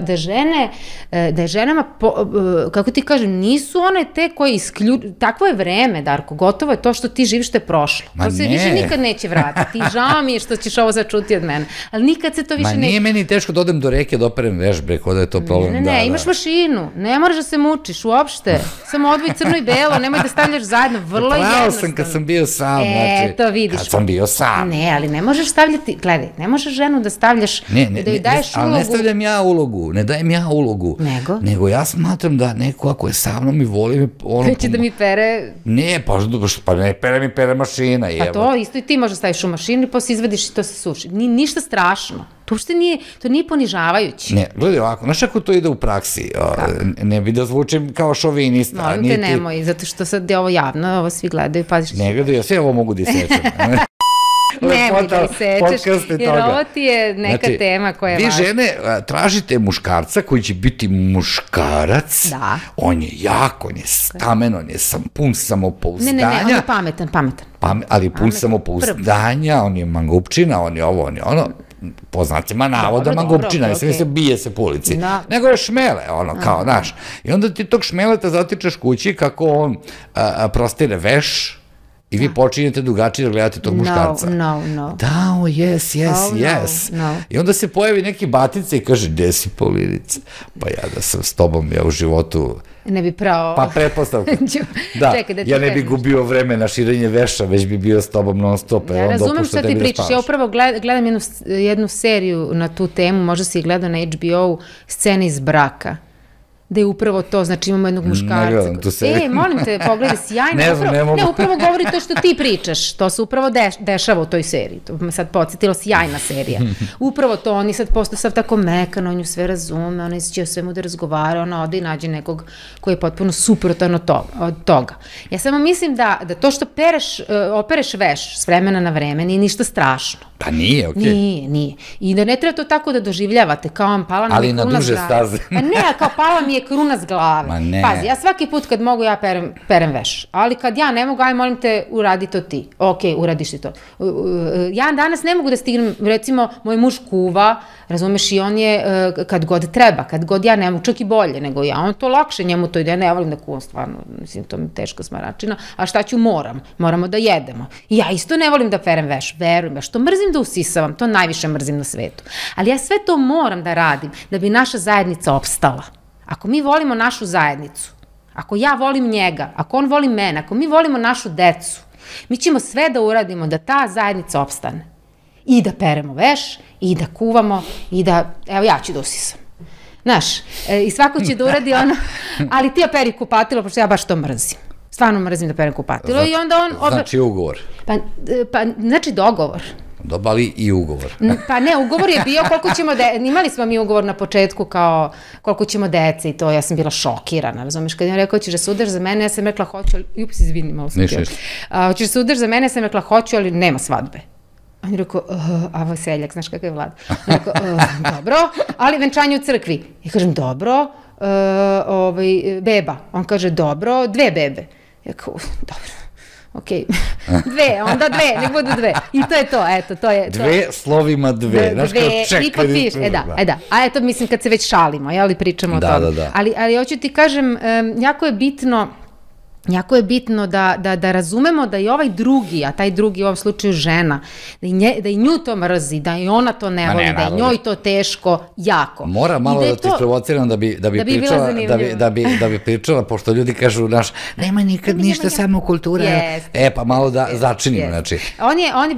Speaker 2: je ženama, kako ti kažem, nisu one te koje takvo je vreme, Darko, gotovo je to što ti živiš, što je prošlo. To se više nikad neće vratiti. Žao mi je što ćeš ovo začuti od mene. Ali nikad se to više neće...
Speaker 1: Ma nije meni teško da odem do reke da operem vežbe, kod da je to problem.
Speaker 2: Ne, imaš mašinu, ne moraš da se mučiš uopšte. Samo odvoj crno i belo, nemoj da stavljaš zajedno, vrlo jednostavno.
Speaker 1: Pravo sam kad sam bio sam, znači...
Speaker 2: To vidiš.
Speaker 1: Kad sam bio sam.
Speaker 2: Ne, ali ne možeš stavljati, gledaj, ne možeš ženu da stavljaš, da joj daješ ulogu.
Speaker 1: Ali ne stavljam ja ulogu, ne dajem ja ulogu. Nego ja smatram da neko ako je sa mnom i voli me...
Speaker 2: Neće da mi pere...
Speaker 1: Ne, pa ne pere mi, pere mašina.
Speaker 2: Pa to, isto i ti možda staviš u mašinu i posle izvadiš i to se suši. Ništa strašno. To nije ponižavajući.
Speaker 1: Ne, gledaj ovako, znaš ako to ide u praksi, ne bi da zvučim kao šovinista.
Speaker 2: Molim te, nemoj, zato što sad je ovo javno, ovo svi gledaju, paziš.
Speaker 1: Ne gledaju, ja sve ovo mogu da isečem.
Speaker 2: Nemoj da isečeš, jer ovo ti je neka tema koja je važna.
Speaker 1: Vi žene tražite muškarca koji će biti muškarac, on je jak, on je stamen, on je pun samopouzdanja.
Speaker 2: Ne, on je pametan.
Speaker 1: Ali pun samopouzdanja, on je mangupčina, on je ovo, on je ono. Po znacima navoda mangupčina, ne se bije se po ulici, nego je šmele, ono, kao, znaš. I onda ti tog šmeleta zatičeš kući kako on prostire veš I vi počinjete drugačije da gledate tog muškarca.
Speaker 2: No.
Speaker 1: Da, yes. I onda se pojavi neki batica i kaže, gde si Paulinice? Pa ja da sam s tobom, ja u životu...
Speaker 2: Ne bi pravo...
Speaker 1: Pa pretpostavka. Da, ja ne bi gubio vreme na širenje veša, već bi bio s tobom non stop.
Speaker 2: Ja razumem šta ti pričaš. Ja upravo gledam jednu seriju na tu temu, možda si je gledao na HBO, Scene iz braka. Da je upravo to, znači imamo jednog muškarca.
Speaker 1: Ne gledam tu seriju.
Speaker 2: Molim te, pogledaj, sjajno.
Speaker 1: Ne mogu.
Speaker 2: Ne, upravo govori to što ti pričaš. To se upravo dešava u toj seriji. To me sad podsjetilo, sjajna serija. Upravo to, oni sad postao sav tako mekan, on ju sve razume, ona će o svemu da razgovara, ona ode i nađe nekog koji je potpuno suprotan od toga. Ja samo mislim da to što opereš veš s vremena na vreme nije ništa strašno.
Speaker 1: Pa nije, okej.
Speaker 2: Nije. I da ne treba to tako da doživljavate, kao vam pala mi je kruna s glave. Ali na duže staze. Pa ne, kao pala mi je kruna s glave.
Speaker 1: Ma ne.
Speaker 2: Pazi, ja svaki put kad mogu ja perem veš, ali kad ja ne mogu, aj molim te, uradi to ti. Okej, uradiš ti to. Ja danas ne mogu da stignem, recimo, moj muž kuva, razumeš, i on je kad god treba, kad god ja ne mogu, čak i bolje nego ja, on to lakše njemu to ide, ne volim da kuvam stvarno, mislim, to mi je teško smaračina, a šta ću, moramo da jedemo. I ja isto ne volim da perem veš, verujem, ja što mrzim da usisavam, to najviše mrzim na svetu. Ali ja sve to moram da radim da bi naša zajednica opstala. Ako mi volimo našu zajednicu, ako ja volim njega, ako on voli mene, ako mi volimo našu decu, mi ćemo sve da uradimo da ta zajednica opstane. I da peremo veš, i da kuvamo, i da, evo ja ću da usisam. Znaš, i svako će da uradi ono, ali ti operi kupatilo, pošto ja baš to mrzim. Stvarno mrzim da perem kupatilo. I onda on...
Speaker 1: Znači ugovor.
Speaker 2: Pa, znači dogovor.
Speaker 1: Dobali i ugovor.
Speaker 2: Pa ne, ugovor je bio koliko ćemo, imali smo mi ugovor na početku kao koliko ćemo dece i to, ja sam bila šokirana, razumiješ, kad je on rekao ćeš da se udaš za mene, ja sam rekla hoću, ali, izvini, malo sam htjela. Hoćeš da se udaš za mene, ja sam rekla hoću, ali nema svadbe. On je rekao, a Vaseljak, znaš kakav je Vlad? On je rekao, dobro, ali venčanje u crkvi. Ja kažem, dobro, beba. On kaže, dobro, 2 bebe. Ja kao, dobro. Okej, 2, onda 2, nek budu 2. I to je to, eto, to je...
Speaker 1: 2 slovima 2, znaš kao čekaj.
Speaker 2: I potpiš, da. A eto, mislim, kad se već šalimo, jel, pričamo o tome.
Speaker 1: Da.
Speaker 2: Ali hoću ti kažem, jako je bitno da razumemo da i ovaj drugi, a taj drugi u ovom slučaju žena, da i nju to mrzi, da i ona to ne voli, da je njoj to teško, jako.
Speaker 1: Mora malo da te sprovociram da bi pričala, pošto ljudi kažu, nema nikad ništa, samo kultura. Pa malo da začinimo, znači.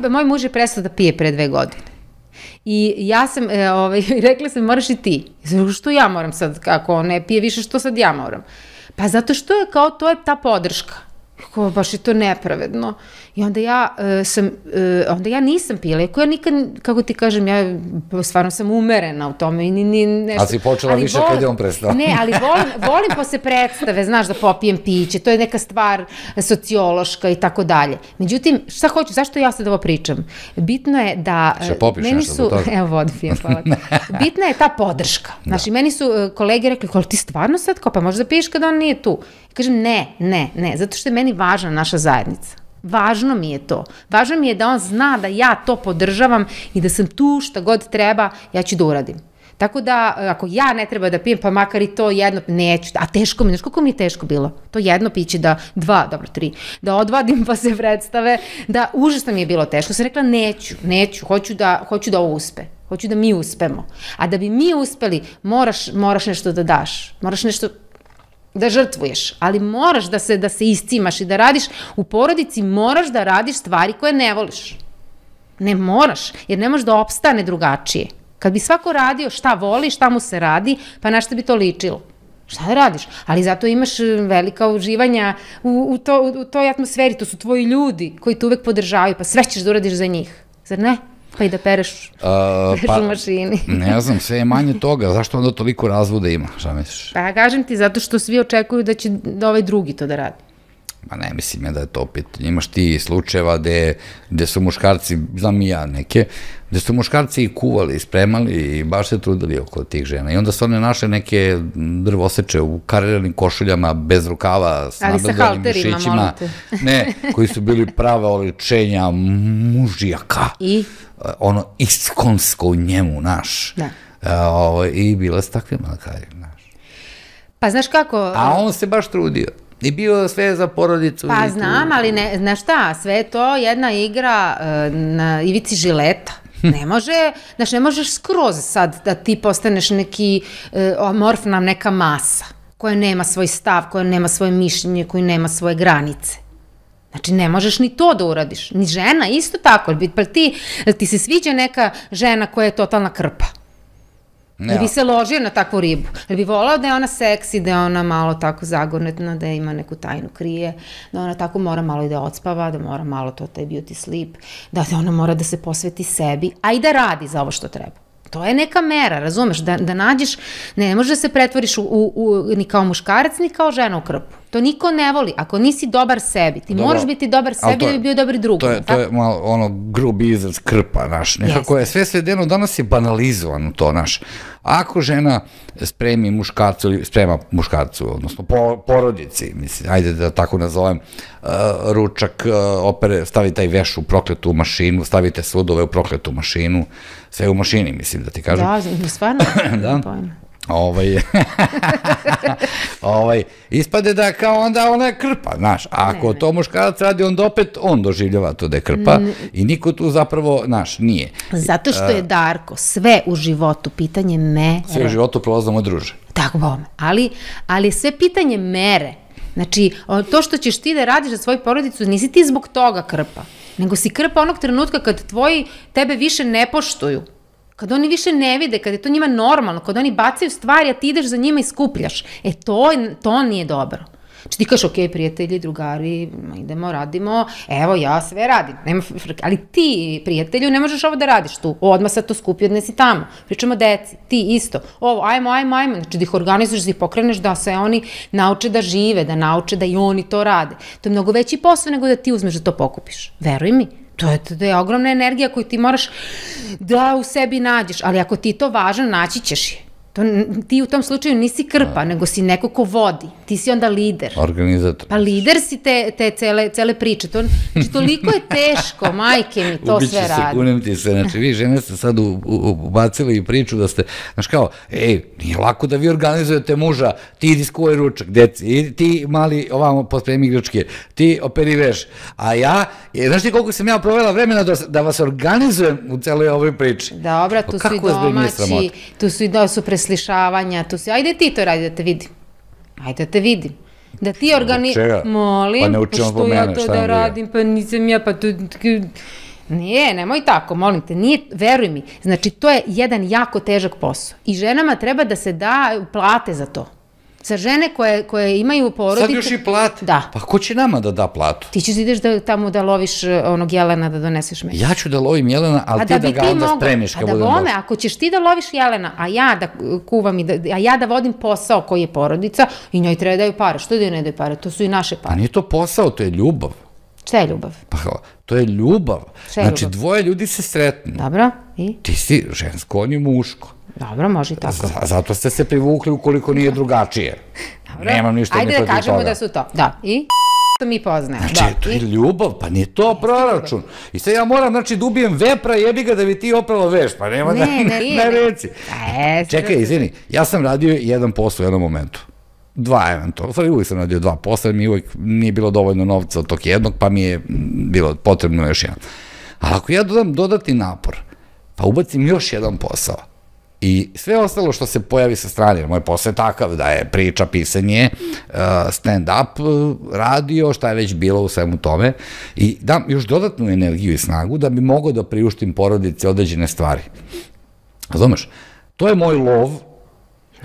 Speaker 2: Moj muž je prestao da pije pre 2 godine. I ja sam, rekla sam, moraš i ti. Što ja moram sad, kako on ne pije više, što sad ja moram? Pa zato što je kao, to je ta podrška. Baš je to nepravedno. I onda ja nisam pila, iako ja nikad, kako ti kažem, ja stvarno sam umerena u tome.
Speaker 1: A si počela više kad je on prestao.
Speaker 2: Ne, ali volim posle predstave, znaš, da popijem piće, to je neka stvar sociološka i tako dalje. Međutim, šta hoću, zašto ja sad ovo pričam? Bitno je da...
Speaker 1: Što popiš nešto za toga?
Speaker 2: Evo, vodu pijem, hvala. Bitna je ta podrška. Znači, meni su kolege rekli, koliko ti stvarno sad, pa možda piješ kada on nije tu. Kažem, ne, zato što je meni važna naša zajednica. Važno mi je to. Važno mi je da on zna da ja to podržavam i da sam tu šta god treba, ja ću da uradim. Tako da, ako ja ne treba da pijem, pa makar i to jedno, neću, a teško mi, znaš koliko mi je teško bilo? To jedno piće da, 3, da odvadim pa se predstave, da užasno mi je bilo teško. Sam rekla, neću, hoću da ovo uspe. Hoću da mi uspemo. A da bi mi uspeli, moraš nešto da daš. Moraš nešto da žrtvuješ, ali moraš da se iscimaš i da radiš u porodici, moraš da radiš stvari koje ne voliš. Ne moraš, jer ne možeš da opstane drugačije. Kad bi svako radio šta voli, šta mu se radi, pa na šta bi to ličilo? Šta da radiš? Ali zato imaš velika uživanja u toj atmosferi, to su tvoji ljudi koji te uvek podržavaju, pa sve ćeš da uradiš za njih. Zar ne? Pa i da pereš u mašini.
Speaker 1: Ne znam, sve je manje toga. Zašto onda toliko razvoda ima? Šta misliš?
Speaker 2: Pa kažem ti, zato što svi očekuju da će ovaj drugi to da radi.
Speaker 1: Ma ne, mislim ja da je to pitanje. Imaš ti slučajeva gde su muškarci, znam i ja neke, gde su muškarci i kuvali, spremali i baš se trudili oko tih žena. I onda su one našle neke drvoseče u kariranim košuljama, bez rukava, s nabedanim mišićima. Ne, koji su bili prave oličenja mužijaka.
Speaker 2: I?
Speaker 1: Ono iskonsko u njemu, naš.
Speaker 2: Da.
Speaker 1: I bile su takve malakari, naš.
Speaker 2: Pa znaš kako...
Speaker 1: A on se baš trudio. I bio sve za porodicu.
Speaker 2: Pa znam, ali znaš šta, sve je to jedna igra na ivici žileta. Ne možeš skroz sad da ti postaneš neki amorfna neka masa koja nema svoj stav, koja nema svoje mišljenje, koja nema svoje granice. Znači, ne možeš ni to da uradiš. Ni žena, isto tako. Pa ti se sviđa neka žena koja je totalna krpa. Da bi se ložio na takvu ribu. Da bi volao da je ona seksi, da je ona malo tako zagornetna, da ima neku tajnu krije, da ona tako mora malo i da odspava, da mora malo to taj beauty sleep, da ona mora da se posveti sebi, a i da radi za ovo što treba. To je neka mera, razumeš, da nađeš, ne može da se pretvoriš ni kao muškarac, ni kao žena u krpu. To niko ne voli. Ako nisi dobar sebi, ti moraš biti dobar sebi da bi bio dobar drugom.
Speaker 1: To je malo ono grubi izraz krpa, naš. Nekako je sve svedeno, danas je banalizovano to, naš. Ako žena spremi muškarcu ili sprema muškarcu, odnosno porodici, mislim, ajde da tako nazovem, ručak, opere, stavi taj veš u prokletu mašinu, stavite sudove u prokletu mašinu, sve u mašini, mislim da ti kažem.
Speaker 2: Da, stvarno,
Speaker 1: da. Ispade da kao onda ona je krpa, znaš, a ako to muškarac radi, onda opet on doživljava to da je krpa i niko tu zapravo, znaš, nije.
Speaker 2: Zato što je, Darko, sve u životu pitanje mere.
Speaker 1: Sve u životu prolazno moj druže.
Speaker 2: Tako bome, ali sve pitanje mere. Znači, to što ćeš ti da radiš za svoju porodicu, nisi ti zbog toga krpa, nego si krpa onog trenutka kad tvoji tebe više ne poštuju. Kad oni više ne vide, kad je to njima normalno, kad oni bacaju stvari, a ti ideš za njima i skupljaš. To nije dobro. Znači ti kažeš, ok, prijatelji, drugari, idemo, radimo, evo ja sve radim, ali ti, prijatelju, ne možeš ovo da radiš tu, odmah sad to skupi, odnesi tamo, pričamo deci, ti isto, ovo, ajmo, znači da ih organizuješ, da ih pokreneš, da se oni nauče da žive, da nauče da i oni to rade. To je mnogo veći posao nego da ti uzmeš da to pokupiš, veruj mi. To je ogromna energija koju ti moraš da u sebi nađeš, ali ako ti je to važno, naći ćeš je. Ti u tom slučaju nisi krpa, nego si neko ko vodi. Ti si onda lider.
Speaker 1: Organizator.
Speaker 2: Pa lider si te cele priče. Znači, toliko je teško, majke mi, to sve radi.
Speaker 1: Kunem ti se, znači vi žene ste sad ubacili i priču da ste, znaš kao, nije lako da vi organizujete muža, ti idi skuvaj ručak, deci, ti mali ovamo pospremi igračke, ti operi veš, a ja, znaš ti koliko sam ja provela vremena da vas organizujem u celoj ovoj priči.
Speaker 2: Dobra, tu su i domaći, tu su preslišavanja, ajde ti to radi da te vidim. Ajde da te vidim. Da ti molim, pa što ja to da radim, pa nisam ja, pa to... Nije, nemoj tako, molim te, nije, veruj mi, znači to je jedan jako težak posao i ženama treba da se da plate za to. Za žene koje imaju porodice...
Speaker 1: Sad još i plate?
Speaker 2: Da.
Speaker 1: Pa ko će nama da platu?
Speaker 2: Ti ćeš ideš tamo da loviš onog jelena, da doneseš meso.
Speaker 1: Ja ću da lovim jelena, ali ti da ga onda spremiš kad budem došao. A da
Speaker 2: ako ćeš ti da loviš jelena, a ja da kuvam a ja da vodim posao koji je porodica i njoj treba da daju pare. Što da joj ne daju pare? To su i naše pare.
Speaker 1: Pa nije to posao, to je ljubav.
Speaker 2: Šta je ljubav?
Speaker 1: Pa to je ljubav. Znači dvoje ljudi se sretnu.
Speaker 2: Dobro, i?
Speaker 1: Ti si žensko, on je muško.
Speaker 2: Dobro, može i tako.
Speaker 1: Zato ste se privukli ukoliko nije drugačije. Nemam ništa ni protiv toga.
Speaker 2: Ajde da kažemo da su to. Da, i što mi poznajemo.
Speaker 1: Znači, to je ljubav, pa nije to proračun. I sad ja moram, znači, da ubijem vepra, jebi ga da bi ti opralo veš, pa nema da reci. Čekaj, izvini, ja sam radio jedan posao u jednom momentu. Dva eventualno, stvari uvijek sam radio dva posla, jer mi uvijek nije bilo dovoljno novca od tog jednog, pa mi je bilo potrebno još jedan. Ali ako ja dodam dodatni napor, pa ubacim još jedan posao, i sve ostalo što se pojavi sa strane, moj posao je takav da je priča, pisanje, stand-up, radio, šta je već bilo u svemu tome, i dam još dodatnu energiju i snagu da bi mogao da priuštim porodici određene stvari. Razumeš? To je moj lov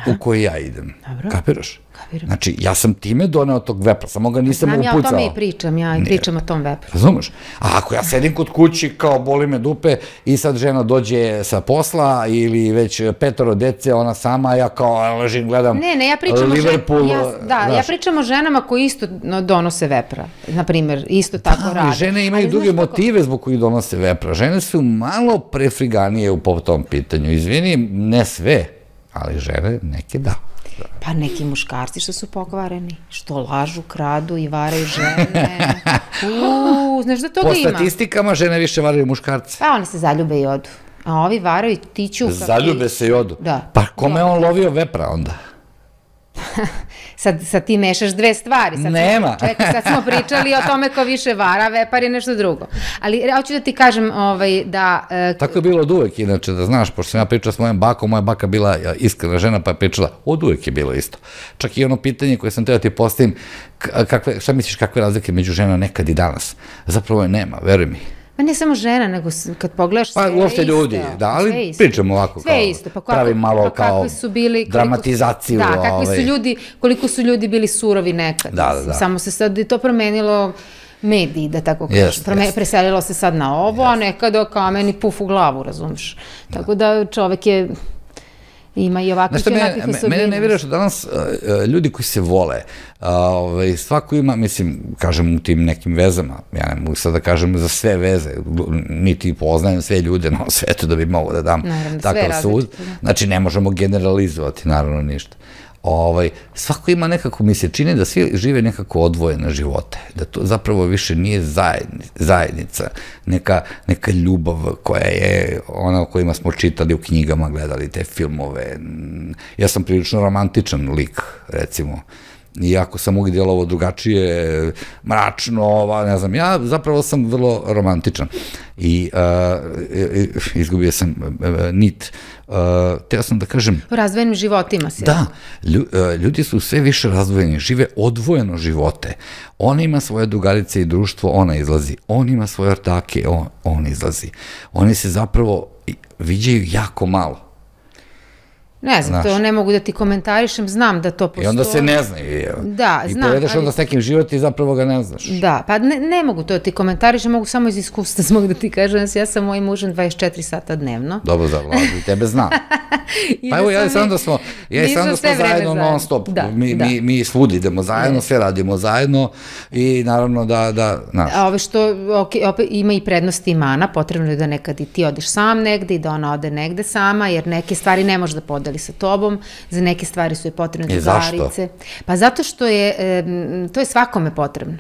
Speaker 1: u koji ja idem. Kapiraš? Znači, ja sam time doneo tog vepra, samo ga nisam upucao.
Speaker 2: Znam ja o tome i pričam, ja i pričam o tom vepru.
Speaker 1: Razumeš? A ako ja sedim kod kući, kao boli me dupe, i sad žena dođe sa posla, ili već 5 dece, ona sama, ja kao ležim, gledam Liverpool.
Speaker 2: Ja pričam o ženama koji isto donose vepra, na primjer, isto tako rade.
Speaker 1: Žene imaju druge motive zbog kojih donose vepra. Žene su malo prefriganije po tom pitanju. Izvini, ne sve, ali žene neke da.
Speaker 2: Pa neki muškarci što su pokvareni, što lažu, kradu i varaju žene. Znaš da toga ima?
Speaker 1: Po statistikama žene više varaju muškarce.
Speaker 2: Pa oni se zaljube i odu. A ovi varaju i tiču.
Speaker 1: Zaljube se i odu?
Speaker 2: Da.
Speaker 1: Pa kome je on lovio vepra onda?
Speaker 2: Sad ti mešaš dve stvari.
Speaker 1: Nema.
Speaker 2: Čekaj, sad smo pričali o tome ko više vara, vepar je nešto drugo. Ali hoću da ti kažem da...
Speaker 1: Tako je bilo od uvek, inače, da znaš, pošto sam ja pričao s mojom bakom, moja baka bila iskrena žena, pa je pričala, od uvek je bilo isto. Čak i ono pitanje koje sam teo ti postavim, šta misliš kakve razlike među žena nekad i danas? Zapravo je nema, veruj mi.
Speaker 2: Pa ne samo žena, nego kad pogledaš sve je isto. Pa
Speaker 1: uopšte ljudi, da, ali pričamo ovako kao, pravim malo kao dramatizaciju.
Speaker 2: Da, kakvi su ljudi, koliko su ljudi bili surovi nekad.
Speaker 1: Da.
Speaker 2: Samo se sad to promenilo mediji, da tako kažem. Preselilo se sad na ovo, a nekada kameni puf u glavu, razumiješ. Tako da čovek je... Ima i ovakvih i onakvih osobina.
Speaker 1: Mene ne vjeruješ da danas ljudi koji se vole, svako ima, mislim, kažem u tim nekim vezama, ja ne mogu sad da kažem za sve veze, niti poznajem sve ljude na svetu da bi mogo da dam takav sud. Znači, ne možemo generalizovati, naravno, ništa. Svako ima nekako, mi se čini da svi žive nekako odvojene živote, da to zapravo više nije zajednica, neka ljubav koja je ona o kojima smo čitali u knjigama, gledali te filmove. Ja sam prilično romantičan lik, recimo, iako sam uvijek djelovao drugačije, mračno, ne znam, ja zapravo sam vrlo romantičan i izgubio sam nit. Teo sam da kažem...
Speaker 2: U razdvojenim životima se.
Speaker 1: Da, ljudi su sve više razdvojeni, žive odvojeno živote. On ima svoje drugarice i društvo, ona izlazi. On ima svoje ortake, on izlazi. Oni se zapravo viđaju jako malo.
Speaker 2: Ne znam, to ne mogu da ti komentarišem, znam da to postoji.
Speaker 1: I onda se ne znaju.
Speaker 2: Da, znam.
Speaker 1: I povedeš onda s nekim život i zapravo ga ne znaš.
Speaker 2: Da, pa ne mogu to da ti komentarišem, mogu samo iz iskustva smog da ti kažem, ja sam mojim mužem 24 sata dnevno.
Speaker 1: Dobro za Vladu, i tebe znam. Pa evo, ja i sam da smo zajedno non stop. Mi svud idemo zajedno, sve radimo zajedno i naravno da...
Speaker 2: A ove što, opet ima i prednosti i mana, potrebno je da nekad i ti odeš sam negde i da ona ode negde sama, jer neke stvari ne može da podeli sa tobom, za neke stvari su je potrebne drugarice. Pa zato što to je svakome potrebno.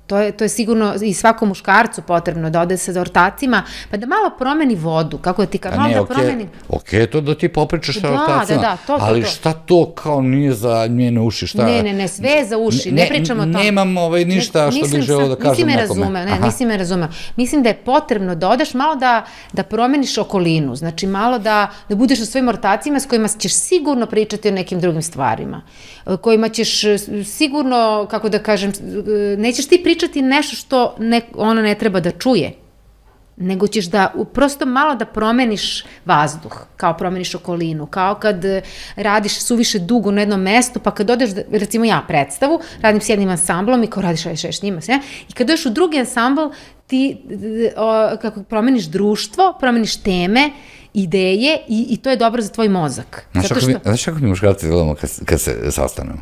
Speaker 2: To je sigurno i svakom muškarcu potrebno da ode sa ortacima, pa da malo promeni vodu, kako da ti kao malo da promeni...
Speaker 1: Okej, to da ti popričaš sa ortacima, ali šta to kao nije za njene uši, šta...
Speaker 2: Ne, sve je za uši, ne pričamo o tom.
Speaker 1: Nemam ništa što bih želeo da kažem nekome.
Speaker 2: Nisi me razumeo. Mislim da je potrebno da odeš malo da promeniš okolinu, znači malo da budeš sa svojim ortacima s kojima ćeš sigurno pričati o nekim drugim stvarima, kojima ćeš sigurno, kako da kažem, nećeš ti pričati nešto što ona ne treba da čuje, nego ćeš da prosto malo da promeniš vazduh, kao promeniš okolinu, kao kad radiš suviše dugo na jednom mestu, pa kad odeš, recimo ja predstavu, radim s jednim ansamblom i kao radiš s njima, i kad odeš u drugi ansambl, ti kako promeniš društvo, promeniš teme, ideje i to je dobro za tvoj mozak.
Speaker 1: Znaš kako mi muškarci gledamo kad se sastanemo?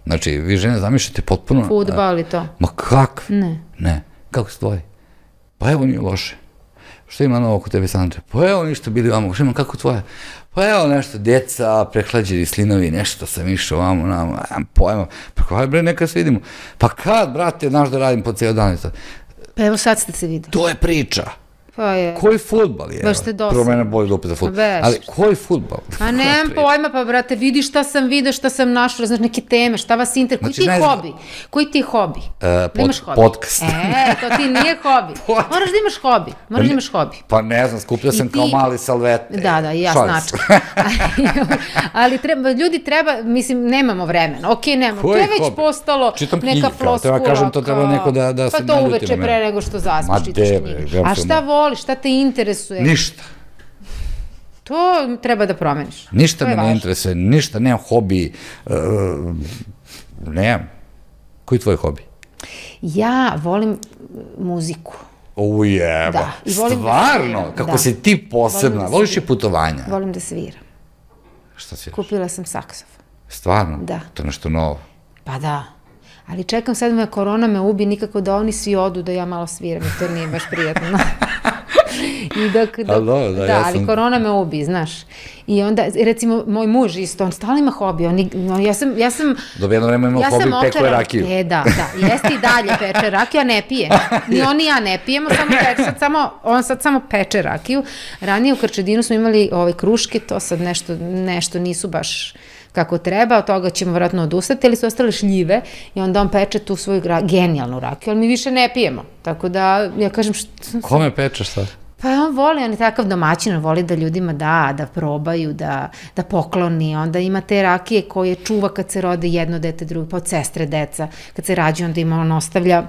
Speaker 1: Znači, vi žene zamišljate potpuno...
Speaker 2: Fudbal i to.
Speaker 1: Ma kakve?
Speaker 2: Ne.
Speaker 1: Kako se tvoji? Pa evo nije loše. Što ima novo kod tebe, Sandra? Pa evo ništa bili vamo. Što ima kako tvoje? Pa evo nešto, djeca, prehlađeni slinovi, nešto sam išao vamo, nemam pojma. Pa kaj bre, neka se vidimo. Pa kad, brate, znaš da radim po cijel dan?
Speaker 2: Pa evo sad ste se videli.
Speaker 1: To je priča. Koji fudbal je?
Speaker 2: Baš ste dosadno.
Speaker 1: Prvo mene bolje da upita fudbal. Ali koji fudbal?
Speaker 2: Pa nemam pojma, pa brate, vidi šta sam vidio, šta sam našla, znaš, neke teme, šta vas interesuje. Koji ti je hobi? Koji ti je hobi?
Speaker 1: Podcast.
Speaker 2: To ti nije hobi. Moraš da imaš hobi.
Speaker 1: Pa ne znam, skupio sam kao mali salvete.
Speaker 2: Da, i ja značka. Ali ljudi treba, mislim, nemamo vremena. Okej, nemamo. To je već postalo neka floskula.
Speaker 1: Treba kažem, to treba neko da se naljuti na mene.
Speaker 2: Pa to uveče pre nego što zaspiš, čitaš knjige. A šta voliš, šta te interesuje?
Speaker 1: Ništa.
Speaker 2: To treba da promeniš.
Speaker 1: Ništa me ne interesuje, ništa, nemam hobi, nemam. Koji je tvoj hobi?
Speaker 2: Ja volim muziku.
Speaker 1: Ujeba, stvarno, kako si ti posebna, voliš i putovanja?
Speaker 2: Volim da sviram.
Speaker 1: Šta sviraš?
Speaker 2: Kupila sam saksofon.
Speaker 1: Stvarno?
Speaker 2: Da.
Speaker 1: To je nešto novo?
Speaker 2: Pa da. Ali čekam sad me korona me ubi, nikako da oni svi odu da ja malo sviram i to nije baš prijatno. Ali korona me ubi, znaš. I onda, recimo, moj muž isto, on stalno ima hobi. Ja sam...
Speaker 1: Dobro, jedno vreme ima hobi, pekuje rakiju.
Speaker 2: Da, jeste i dalje peče rakiju, a ne pije. Ni on ni ja ne pijemo, on sad samo peče rakiju. Ranije u Krčedinu smo imali kruške, to sad nešto nisu baš kako treba, od toga ćemo vjerojatno odustati, ali su ostale šljive i onda on peče tu svoju genijalnu rakiju, ali mi više ne pijemo. Tako da, ja kažem...
Speaker 1: Kome pečeš sad?
Speaker 2: Pa on voli, on je takav domaćin, on voli da ljudima da probaju, da pokloni, onda ima te rakije koje čuva kad se rode jedno dete, drugo, pa od sestre deca, kad se rađe, onda ima, on ostavlja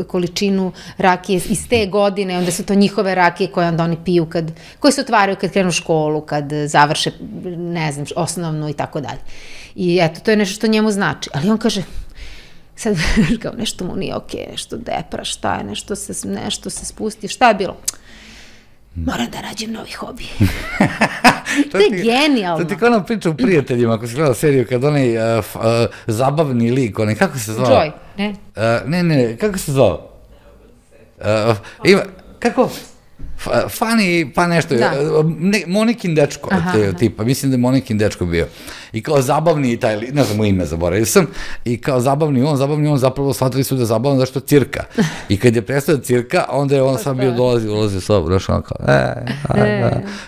Speaker 2: količinu rakije iz te godine, onda su to njihove rakije koje onda oni piju koje se otvaraju kad krenu u školu, kad završe, ne znam, osnovnu i tako dalje. I eto, to je nešto što njemu znači. Ali on kaže, sad kao nešto mu nije okej, nešto depra, šta je, nešto se spusti, šta je bilo? Moram da nađem novi hobi. To je genijalno.
Speaker 1: To ti kao nam priča u Prijateljima, ako si gledala seriju, kad onaj zabavni lik, onaj, kako se zvao?
Speaker 2: Joy, ne?
Speaker 1: Ne, kako se zvao? Kako? Funny, pa nešto, Monikin dečko, tipa, mislim da je Monikin dečko bio. I kao zabavni, ne znam mu ime, zaboravio sam, i kao zabavni on, zapravo shvatili su da je zabavno zašto cirka. I kad je prestao cirka, onda je on sam bio ulazi u sobu, znaš, on kao,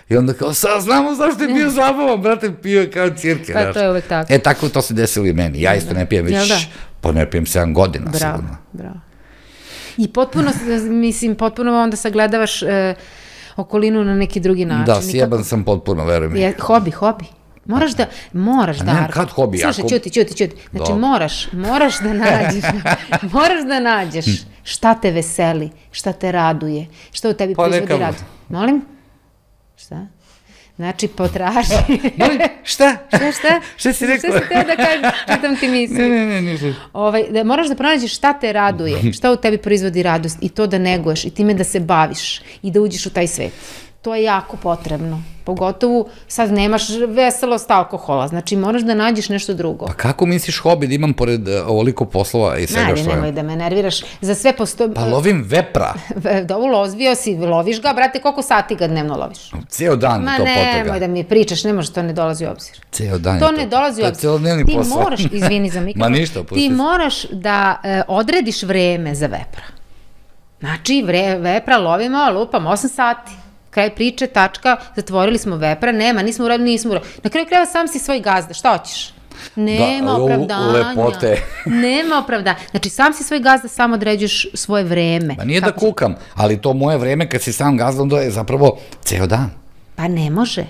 Speaker 1: i onda kao, sad znamo zašto je bio zabavan, brate, pio je kao cirke, znaš.
Speaker 2: Pa to je uvek tako.
Speaker 1: Tako to se desilo i meni, ja isto ne pijem već, pa ne pijem 7 godina, sigurno.
Speaker 2: Bravo. I potpuno onda sagledavaš okolinu na neki drugi način.
Speaker 1: Da, sjeban sam potpuno, veruj mi.
Speaker 2: Hobi. Moraš, Darko.
Speaker 1: Kad hobi?
Speaker 2: Slušaj, čuti. Znači, moraš da nađeš šta te veseli, šta te raduje, šta u tebi proizvodi rad. Molim? Šta? Znači, potraži.
Speaker 1: Molim, šta? Šta si rekao?
Speaker 2: Šta si teo da kažeš, čitam ti misli.
Speaker 1: Ne.
Speaker 2: Moraš da pronađeš šta te raduje, šta u tebi proizvodi radost i to da neguješ i time da se baviš i da uđeš u taj svet. To je jako potrebno. Pogotovo sad nemaš veselost alkohola, znači moraš da nađeš nešto drugo.
Speaker 1: Pa kako misliš hobi da imam pored ovoliko poslova i svega što je?
Speaker 2: Nemoj da me nerviraš, za sve postoji...
Speaker 1: Pa lovim vepra.
Speaker 2: Lozvio si, loviš ga, brate, koliko sati ga dnevno loviš?
Speaker 1: Ceo dan to potrega.
Speaker 2: Ma nemoj da mi pričaš, ne može, to ne dolazi u obzir.
Speaker 1: Ceo dan je to.
Speaker 2: To ne dolazi u obzir.
Speaker 1: To je celodnevni posao.
Speaker 2: Ti moraš, izvini za mikrofon.
Speaker 1: Ma ništa, pusti.
Speaker 2: Ti moraš da odrediš vreme za vepra. Znači, vepra lovimo, lupam 8 sati. Kraj priče, tačka, zatvorili smo vepra, nismo uradili. Na kraju krajeva sam si svoj gazda, šta hoćeš? Nema opravdanja. Nema opravdanja. Znači, sam si svoj gazda, sam određuješ svoje vreme.
Speaker 1: Pa nije da kukam, ali to moje vreme kad si sam gazda, onda je zapravo ceo dan.
Speaker 2: Pa ne može.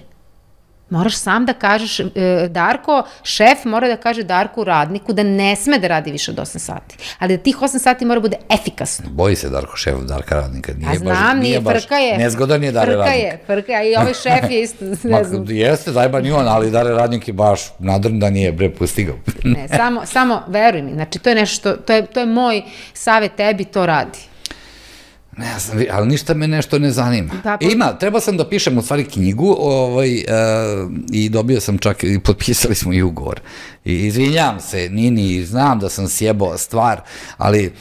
Speaker 2: Moraš sam da kažeš, Darko, šef mora da kaže Darku radniku da ne sme da radi više od 8 sati. Ali da tih 8 sati mora bude efikasno.
Speaker 1: Boji se Darko šef Darka radnika.
Speaker 2: A znam, nije, frka je.
Speaker 1: Nezgodan je Dare radnik.
Speaker 2: Frka je, i ovaj šef je isto, ne znam.
Speaker 1: Jeste, zajban i on, ali Dare radnik je baš nadrn da nije postigao.
Speaker 2: Ne, samo veruj mi, znači to je nešto, to je moj savjet tebi, to radi.
Speaker 1: Ne znam, ali ništa me nešto ne zanima. Treba sam da pišem u stvari knjigu i dobio sam čak, i potpisali smo i ugovor. I izvinjam se, Nini, znam da sam sjebao stvar, ali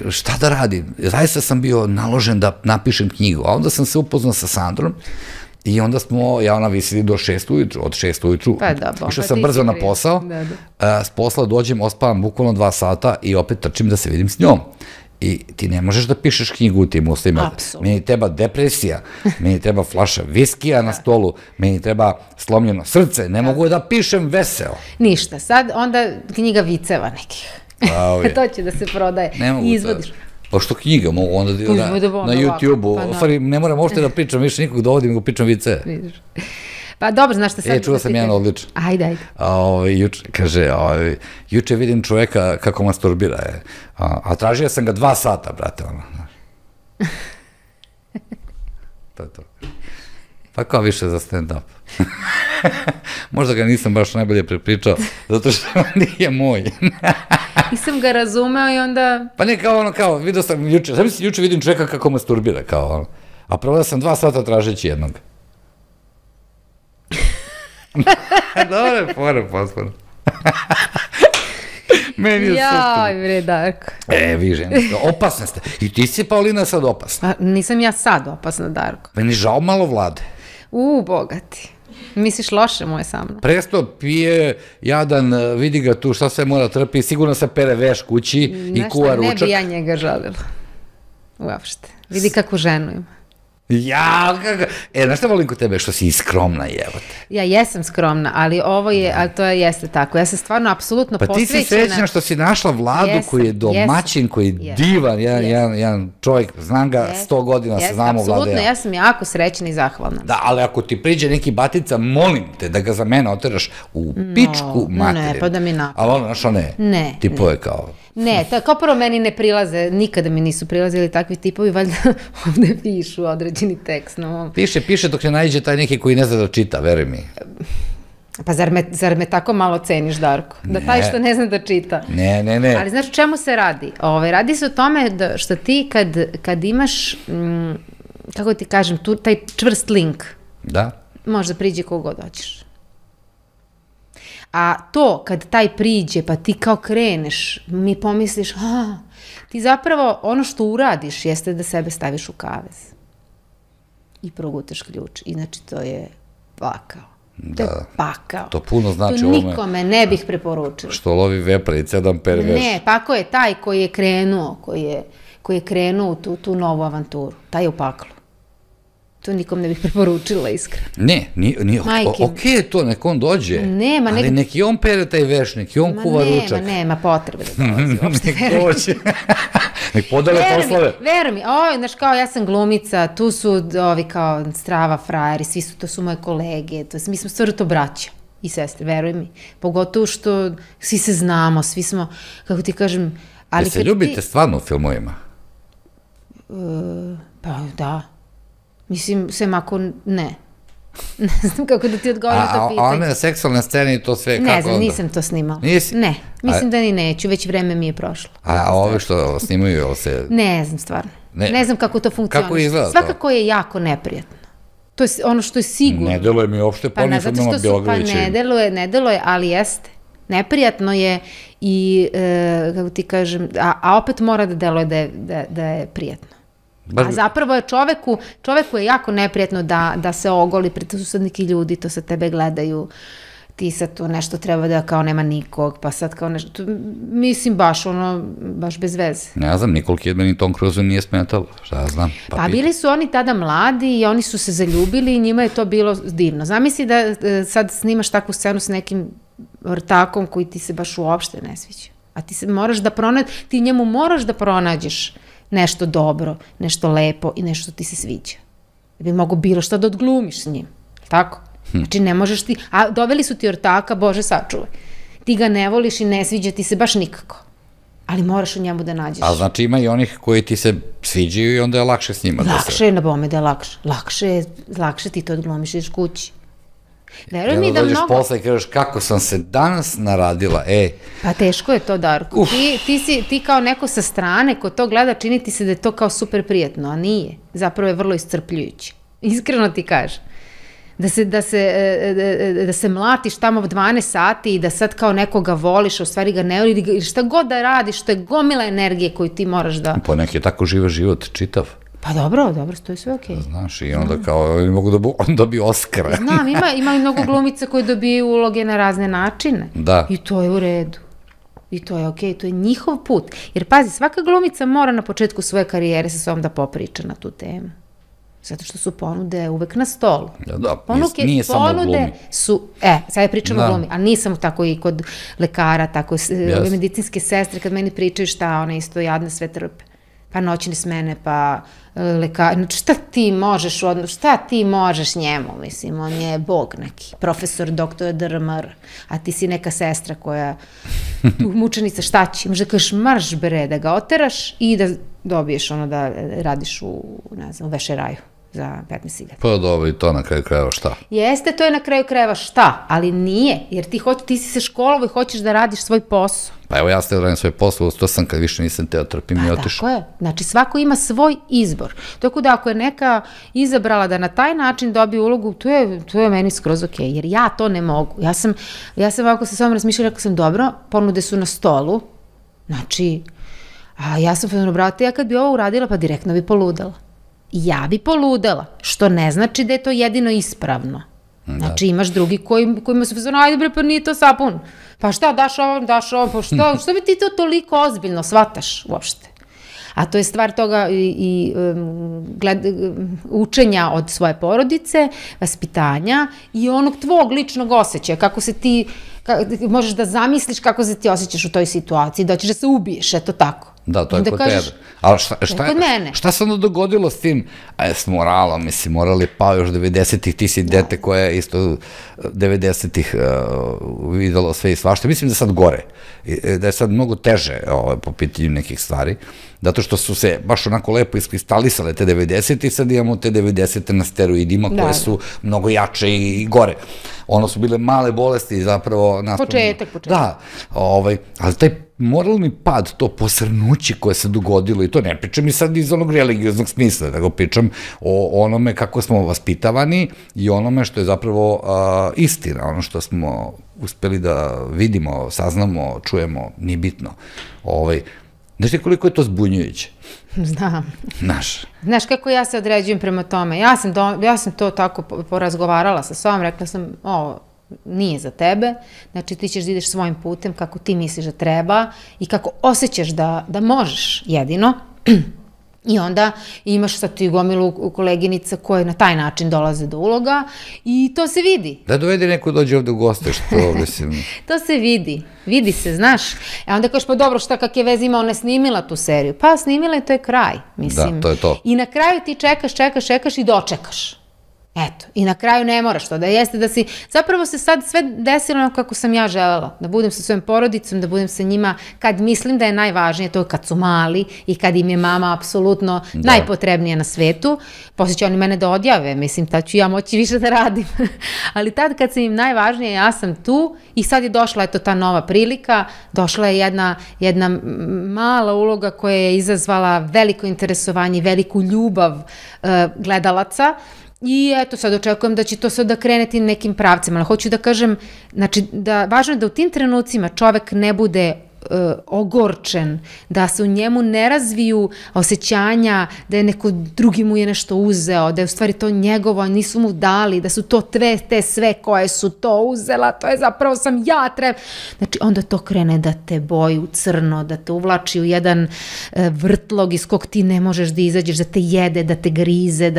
Speaker 1: šta da radim? Zaista sam bio naložen da napišem knjigu, a onda sam se upoznao sa Sandrom i onda smo, ona visili do 6 ujutru, od 6 ujutru, išao sam brzo na posao, s posla dođem, ospavam bukvalno 2 sata i opet trčim da se vidim s njom. I ti ne možeš da pišeš knjigu u tim uslovima. Meni treba depresija, meni treba flaša viskija na stolu, meni treba slomljeno srce, ne mogu da pišem veseo.
Speaker 2: Ništa, sad onda knjiga viceva nekih. To će da se prodaje i izvodiš.
Speaker 1: Pa što knjiga, mogu onda na YouTube-u, ne moram uopšte da pričam, više nikog dovodim, nego pričam vice.
Speaker 2: Pa dobro, znaš šta sad...
Speaker 1: Čuo sam jedan odličan.
Speaker 2: Ajde.
Speaker 1: Kaže, juče vidim čoveka kako masturbira, a tražio sam ga 2 sata, brate, ono. To je to. Pa kao više za stand-up. Možda ga nisam baš najbolje prepričao, zato što nije moj.
Speaker 2: Nisam ga razumeo i onda...
Speaker 1: Pa ne, kao, vidio sam juče, znam si juče vidim čoveka kako masturbira, kao ono. A proveo sam 2 sata tražeći jednog. Dobre, fore, posporo. Meni je super.
Speaker 2: Jaj, bre, Darko.
Speaker 1: Vi žene, opasne ste. I ti si, Paulina, sad opasna.
Speaker 2: Nisam ja sad opasna, Darko.
Speaker 1: Meni žao malo Vlade.
Speaker 2: Bogati. Misliš loše moje sa mnom?
Speaker 1: Presto pije, jadan, vidi ga tu šta sve mora trpi, sigurno se pere veš kući i kuva ručak.
Speaker 2: Ne bi ja njega žalila. Uopšte. Vidi kakvu ženu ima.
Speaker 1: Ja, kako... Znaš šta volim kod tebe? Što si i skromna, jebote.
Speaker 2: Ja jesam skromna, ali ovo je, ali to jeste tako. Ja sam stvarno apsolutno posvećena.
Speaker 1: Pa ti si srećna što si našla Vladu koji je domaćin, koji je divan, jedan čovjek, znam ga 100 godina, se znamo Vlade.
Speaker 2: Apsolutno, ja sam jako srećna i zahvalna.
Speaker 1: Da, ali ako ti priđe neki batica, molim te da ga za mene oteraš u pičku materinu.
Speaker 2: Ne, pa da mi napad.
Speaker 1: Ali ono, znaš, one tipove kao...
Speaker 2: Ne, kao prvo meni ne prilaze, nikada mi nisu prilazili takvi tipovi, valjda ovde pišu određeni tekst.
Speaker 1: Piše dok ne nađe taj neki koji ne zna da čita, veruj mi.
Speaker 2: Pa zar me tako malo ceniš, Darko? Da taj što ne zna da čita.
Speaker 1: Ne.
Speaker 2: Ali znaš o čemu se radi? Radi se o tome što ti kad imaš, kako ti kažem, taj čvrst link, možda priđe kogod hoćeš. A to, kad taj priđe, pa ti kao kreneš, mi pomisliš, ti zapravo ono što uradiš jeste da sebe staviš u kavez. I progutaš ključ. Inači, to je pakao. To je pakao.
Speaker 1: To puno znači
Speaker 2: ovome. To nikome ne bih preporučila.
Speaker 1: Što lovi vepra i 7 perveš.
Speaker 2: Ne, pakao je taj koji je krenuo, koji je krenuo u tu novu avanturu. Taj je u paklu. To nikom ne bih preporučila, iskreno.
Speaker 1: Ne, okej je to, nek on dođe, ali nek i on pere taj veš, nek i on kuva ručak.
Speaker 2: Nema potrebe da dolazi uopšte.
Speaker 1: Nek dođe, nek podele poslove.
Speaker 2: Veruj mi, znaš, kao ja sam glumica, tu su ovi kao strava frajeri, to su moje kolege, mi smo stvarno to braća i sestre, veruj mi. Pogotovo što svi se znamo, svi smo, kako ti kažem...
Speaker 1: Jel se ljubite stvarno u filmovima?
Speaker 2: Pa da. Mislim, sem ako ne. Ne znam kako da ti odgovorim na to pitanje.
Speaker 1: A one seksualne scene i to sve kako onda?
Speaker 2: Ne znam, nisam to snimala.
Speaker 1: Nisi?
Speaker 2: Ne, mislim da ni neću, već vreme mi je prošlo.
Speaker 1: A ove što snimaju, jel se...
Speaker 2: Ne znam stvarno. Ne znam kako to funkcioniše.
Speaker 1: Kako izgleda to?
Speaker 2: Svakako je jako neprijatno. To je ono što je sigurno.
Speaker 1: Ne deluje mi uopšte po onim filmima Bjelogrlića.
Speaker 2: Pa ne deluje, ali jeste. Neprijatno je i, kako ti kažem, a opet mora da deluje da je prijatno. A zapravo je čoveku je jako neprijatno da se ogoli pred susedniki ljudi, to sad tebe gledaju, ti sad tu nešto treba da kao nema nikog, pa sad kao nešto, mislim baš bez veze.
Speaker 1: Ne znam, Nicole Kidman i Tom Cruise nije smetalo, šta ja znam.
Speaker 2: Pa bili su oni tada mladi i oni su se zaljubili i njima je to bilo divno. Zamisli da sad snimaš takvu scenu s nekim ortakom koji ti se baš uopšte ne sviđa. A ti njemu moraš da pronađeš nešto dobro, nešto lepo i nešto ti se sviđa. Da bi mogo bilo šta da odglumiš s njim. Tako? Znači ne možeš ti... A doveli su ti ortaka, Bože sačuvaj. Ti ga ne voliš i ne sviđa ti se baš nikako. Ali moraš u njemu da nađeš.
Speaker 1: A znači ima i onih koji ti se sviđaju i onda je lakše s njima.
Speaker 2: Lakše je na bome da je lakše. Lakše ti to odglumiš, ideš kući. Veruj mi da mnogo...
Speaker 1: Dođeš posle i kažeš kako sam se danas naradila,
Speaker 2: Pa teško je to, Darko. Ti kao neko sa strane ko to gleda, čini ti se da je to kao super prijatno, a nije. Zapravo je vrlo iscrpljujuće. Iskreno ti kažem. Da se mlatiš tamo 12 sati i da sad kao nekoga voliš, a u stvari ga ne voli, šta god da radiš, to je gomila energije koju ti moraš da...
Speaker 1: Po neki je tako živa život, čitav.
Speaker 2: Pa dobro, to je sve okej.
Speaker 1: Znaš, i onda kao, oni mogu da dobiju Oskara.
Speaker 2: Znam, ima i mnogo glumica koji dobiju uloge na razne načine.
Speaker 1: Da.
Speaker 2: I to je u redu. I to je okej, to je njihov put. Jer pazi, svaka glumica mora na početku svoje karijere sa sobom da popriča na tu temu. Zato što su ponude uvek na stolu.
Speaker 1: Da, nije samo u glumi.
Speaker 2: Sad ja pričam o glumi, ali nisam tako i kod lekara, tako ove medicinske sestre, kad meni pričaju šta, one isto jadne sve trpe. Pa noćne smene, pa lekar, šta ti možeš njemu, mislim, on je bog neki, profesor, doktor, DRMR, a ti si neka sestra koja, mučenica, šta će, možda kažeš marš bre, da ga oteraš i da dobiješ da radiš u vešeraju za 15.000.
Speaker 1: Pa dobro, i to na kraju krajeva šta?
Speaker 2: Jeste, to je na kraju krajeva šta, ali nije, jer ti si se školovao i hoćeš da radiš svoj posao.
Speaker 1: Pa evo ja ste radim svoj posao, to sam kad više nisam teo trpim i otišao.
Speaker 2: Tako je, znači svako ima svoj izbor. Tako da ako je neka izabrala da na taj način dobije ulogu, to je meni skroz okej, jer ja to ne mogu. Ja sam ovako sa sobom razmišljala, rekao sam dobro, ponude su na stolu, znači, a ja sam fenomenalno, brate, ja kad bi ovo uradila, pa direktno bi poludela. Ja bi poludela, što ne znači da je to jedino ispravno. Znači imaš drugi kojima su fazonu, ajde bre, pa nije to sapun. Pa šta, daš ovom, pa što bi ti to toliko ozbiljno shvataš uopšte? A to je stvar toga i učenja od svoje porodice, vaspitanja i onog tvog ličnog osjećaja, kako se ti, možeš da zamisliš kako se ti osjećaš u toj situaciji, da ćeš da se ubiješ, eto tako.
Speaker 1: Da, to je kod tebe. Ali šta se onda dogodilo s tim, s moralom, mislim, morali pa još 90-ih, ti si dete koje je isto 90-ih videlo sve i svašta. Mislim da je sad gore, da je sad mnogo teže po pitanju nekih stvari, zato što su se baš onako lepo iskristalisale te 90-ih, sad imamo te 90-te na steroidima koje su mnogo jače i gore. Ono su bile male bolesti zapravo.
Speaker 2: Početak.
Speaker 1: Da, ali taj moralni pad, to posrnuće koje se dogodilo, i to ne pričam i sad iz onog religioznog smisla, nego pričam o onome kako smo vaspitavani i onome što je zapravo istina, ono što smo uspeli da vidimo, saznamo, čujemo, nije bitno. Znaš ti koliko je to zbunjujuće?
Speaker 2: Znam. Znaš kako ja se određujem prema tome? Ja sam to tako porazgovarala sa sobom, rekla sam, ovo nije za tebe, znači ti ćeš da ideš svojim putem kako ti misliš da treba i kako osjećaš da možeš jedino. I onda imaš sad ti gomilu koleginica koje na taj način dolaze do uloga i to se vidi.
Speaker 1: Da dovedi neko dođe ovde u goste, što mislim.
Speaker 2: To se vidi se, znaš. Onda kažeš, pa dobro, šta kakve veze ima, ona je snimila tu seriju. Pa snimila je, to je kraj, mislim.
Speaker 1: Da, to je to.
Speaker 2: I na kraju ti čekaš i dočekaš. Eto, i na kraju ne moraš to, da jeste da si, zapravo se sad sve desilo kako sam ja želela, da budem sa svojom porodicom, da budem sa njima kad mislim da je najvažnije, to je kad su mali i kad im je mama apsolutno najpotrebnija na svetu, poslije će oni mene da odjave, mislim, tad ću ja moći više da radim, ali tad kad sam im najvažnije, ja sam tu i sad je došla eto ta nova prilika, došla je jedna mala uloga koja je izazvala veliko interesovanje, veliku ljubav gledalaca. I eto, sad očekujem da će to sad da kreneti nekim pravcima, ali hoću da kažem, znači, važno je da u tim trenucima čovek ne bude ogorčen, da se u njemu ne razviju osjećanja da je neko drugi mu je nešto uzeo, da je u stvari to njegovo, nisu mu dali, da su to te sve koje su to uzela, to je zapravo sam ja treba. Znači, onda to krene da te boji u crno, da te uvlači u jedan vrtlog iz kog ti ne možeš da izađeš, da te jede, da te grize,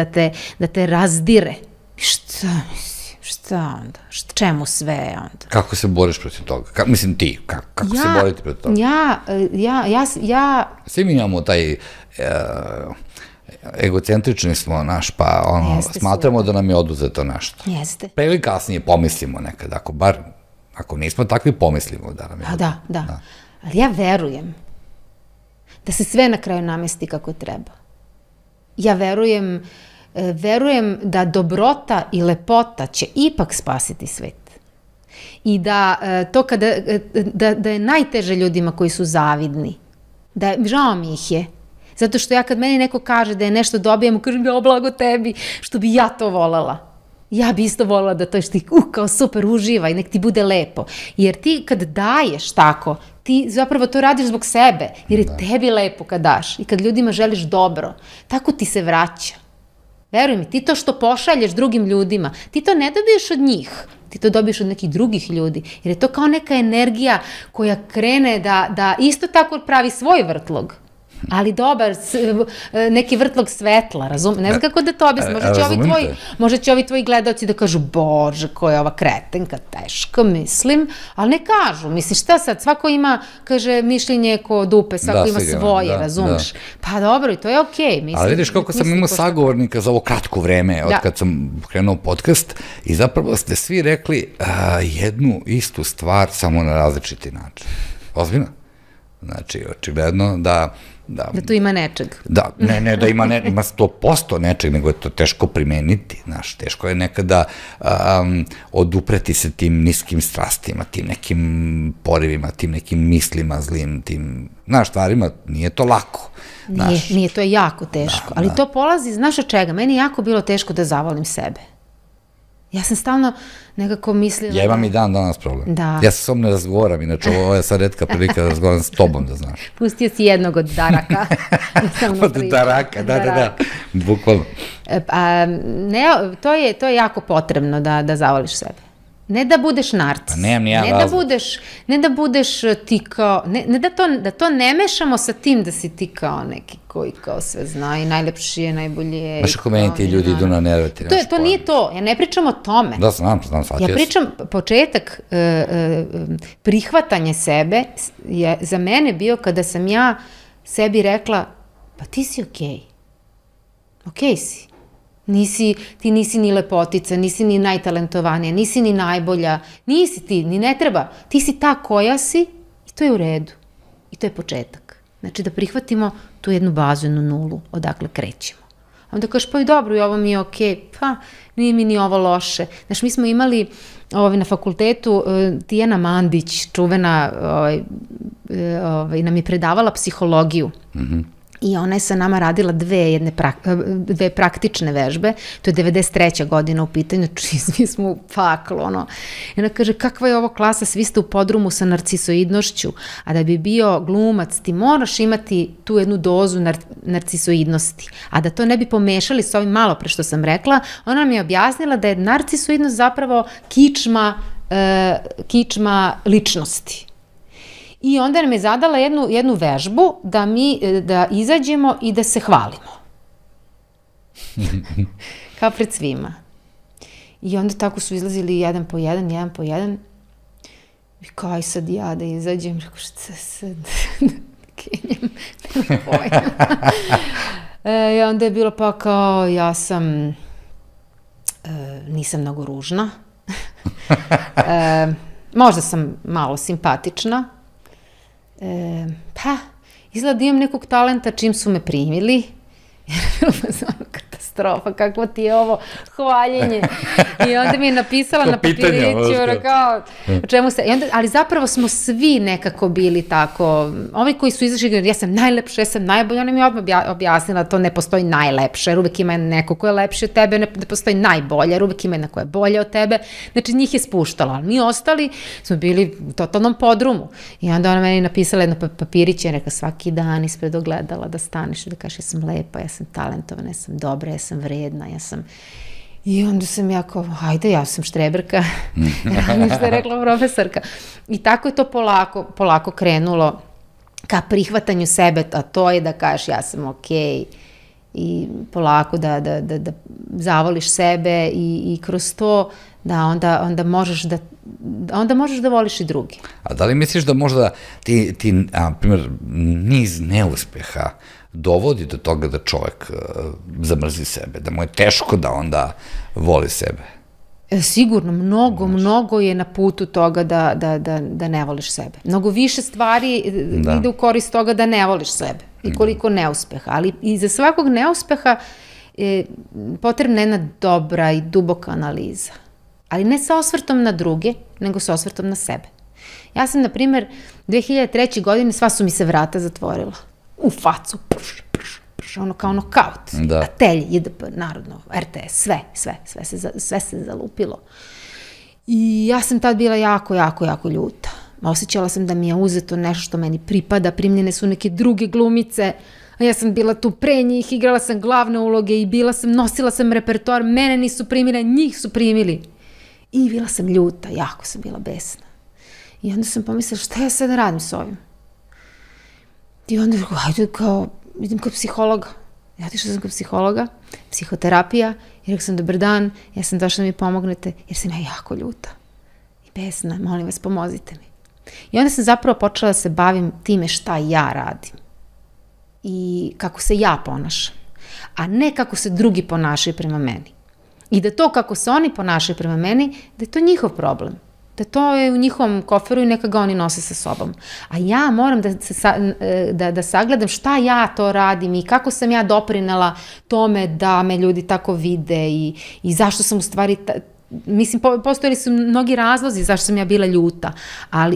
Speaker 2: da te razdire. Šta onda? Čemu sve onda?
Speaker 1: Kako se boriš protiv toga? Mislim ti, kako se boriti protiv toga? Svi mi imamo taj egocentrični smo naš, pa smatramo da nam je oduzeto nešto.
Speaker 2: Jeste.
Speaker 1: Pre ili kasnije pomislimo nekad, ako nismo takvi pomislimo da nam je oduzeto.
Speaker 2: Da. Ali ja verujem da se sve na kraju namesti kako treba. Ja verujem da dobrota i lepota će ipak spasiti svet. I da to da je najteže ljudima koji su zavidni. Žao mi ih je. Zato što ja kad meni neko kaže da je nešto dobio, ja mu kažem, ja blago tebi, što bi ja to volela. Ja bi isto volela da to što ti, kao super, uživaj, nek ti bude lepo. Jer ti kad daješ tako, ti zapravo to radiš zbog sebe, jer je tebi lepo kad daš i kad ljudima želiš dobro. Tako ti se vraća. Veruj mi, ti to što pošalješ drugim ljudima, ti to ne dobiješ od njih, ti to dobiješ od nekih drugih ljudi, jer je to kao neka energija koja krene da isto tako pravi svoj vrtlog, ali dobar, neki vrtlog svetla, razumiješ? Ne znam kako da to objasnim, možda će ovi tvoji gledalci da kažu, bože, koja je ova kretenka, teško, mislim, ali ne kažu, misliš, šta sad, svako ima, kaže, mišljenje ko dupe, svako ima svoje, razumiješ? Pa dobro, i to je okej, mislim.
Speaker 1: Ali vidiš koliko sam imao sagovornika za ovo kratko vreme, od kad sam krenuo podcast, i zapravo ste svi rekli jednu istu stvar, samo na različiti način. Ozbiljno? Znači, očigledno da
Speaker 2: tu ima nečeg.
Speaker 1: Da, ne da ima 100% nečeg, nego je to teško primeniti, znaš, teško je nekada odupreti se tim niskim strastima, tim nekim porivima, tim nekim mislima zlim, tim, znaš, stvarima, nije to lako.
Speaker 2: Nije, to je jako teško, ali to polazi, znaš od čega, meni je jako bilo teško da zavolim sebe. Ja sam stalno nekako mislila...
Speaker 1: Ja imam i danas problem.
Speaker 2: Da.
Speaker 1: Ja se s ovom ne razgovaram, inače ovo je sad retka prilika da razgovaram s tobom, da znaš.
Speaker 2: Pustio si jednog od daraka.
Speaker 1: Od daraka, da, bukvalno.
Speaker 2: To je jako potrebno da zavoliš sebe. ne da budeš narcis.
Speaker 1: Pa nemam nijedan razlog.
Speaker 2: Ne da budeš ti kao, ne da to ne mešamo sa tim da si ti kao neki koji kao sve zna i najlepši je, najbolji je.
Speaker 1: Znaš kako meni ti ljudi idu na nerve, ti nemaš
Speaker 2: To nije to, ja ne pričam o tome.
Speaker 1: Da, znam, shvatio sam.
Speaker 2: Ja pričam, početak prihvatanja sebe je za mene bio kada sam ja sebi rekla, pa ti si okej. Okej si. Ti nisi ni lepotica, nisi ni najtalentovanija, nisi ni najbolja, nisi ti, ni ne treba. Ti si ta koja si i to je u redu. I to je početak. Znači da prihvatimo tu jednu bazu, jednu nulu, odakle krećemo. A onda kažeš, pa i dobro, i ovo mi je okej, pa nije mi ni ovo loše. Znači, mi smo imali na fakultetu Tijana Mandić, čuvena, nam je predavala psihologiju. I ona je sa nama radila dve praktične vežbe, to je 93. godina u pitanju, svi smo u paklu, I ona kaže, kakva je ovo klasa, svi ste u podrumu sa narcisoidnošću, a da bi bio glumac, ti moraš imati tu jednu dozu narcisoidnosti, a da to ne bi pomešali s ovim malo pre što sam rekla, ona nam je objasnila da je narcisoidnost zapravo kičma ličnosti. I onda nam je zadala jednu vežbu da izađemo i da se hvalimo. Kao pred svima. I onda tako su izlazili jedan po jedan. I kao, aj sad ja da izađem. Rekao, šta sad? Kenjem. Nema pojma. I onda je bilo pa kao, ja sam, nisam mnogo ružna. Možda sam malo simpatična. Pa, izgleda imam nekog talenta čim su me primili, jer je bilo katastrofa, kakvo ti je ovo hvaljenje. I onda mi je napisala na papiriću, kao, o čemu se, ali zapravo smo svi nekako bili tako, ovi koji su izašli, ja sam najlepša, ja sam najbolja, ona mi je odmah objasnila da to ne postoji najlepše, jer uvek ima neko ko je lepši od tebe, ne postoji najbolja, jer uvek ima jedna koja je bolja od tebe, znači njih je spuštala, ali mi ostali smo bili u totalnom podrumu. I onda ona meni napisala jedno papiriće, rekla svaki dan ispred ogledala da staneš i da kažeš ja sam lepa, ja sam talentovana, ja sam dobra, ja sam vredna, ja sam... I onda sam ja kao, hajde, ja sam štreberka, što je rekla profesorka. I tako je to polako krenulo ka prihvatanju sebe, a to je da kažeš ja sam okej i polako da zavoliš sebe i kroz to da onda možeš da voliš i drugi.
Speaker 1: A da li misliš da možda ti na primjer, niz neuspeha dovodi do toga da čovek zamrzi sebe, da mu je teško da onda voli sebe?
Speaker 2: Sigurno, mnogo je na putu toga da ne voliš sebe. Mnogo više stvari ide u korist toga da ne voliš sebe i koliko neuspeha. Ali iza svakog neuspeha potrebna je jedna dobra i duboka analiza. Ali ne sa osvrtom na druge, nego sa osvrtom na sebe. Ja sam, na primjer, 2003. godine sva su mi se vrata zatvorila. U facu, kao nokaut, Atelj, JDP, Narodno, RTS, sve se zalupilo. I ja sam tad bila jako ljuta. Osjećala sam da mi je uzeto nešto što meni pripada, primljene su neke druge glumice, a ja sam bila tu pre njih, igrala sam glavne uloge i nosila sam repertoar, mene nisu primili, njih su primili. I bila sam ljuta, jako sam bila besna. I onda sam pomislila, šta ja sad radim s ovim? I onda hajde idem kod psihologa. Ja otišla sam kod psihologa, psihoterapija, i rekla sam, dobar dan, ja sam došla da mi pomognete, jer sam ja jako ljuta i besna, molim vas, pomozite mi. I onda sam zapravo počela da se bavim time šta ja radim i kako se ja ponašam, a ne kako se drugi ponašaju prema meni. I da to kako se oni ponašaju prema meni, da je to njihov problem. Da to je u njihovom koferu i neka ga oni nose sa sobom. A ja moram da sagledam šta ja to radim i kako sam ja doprinela tome da me ljudi tako vide i zašto sam u stvari... Mislim, postojali su mnogi razlozi zašto sam ja bila ljuta,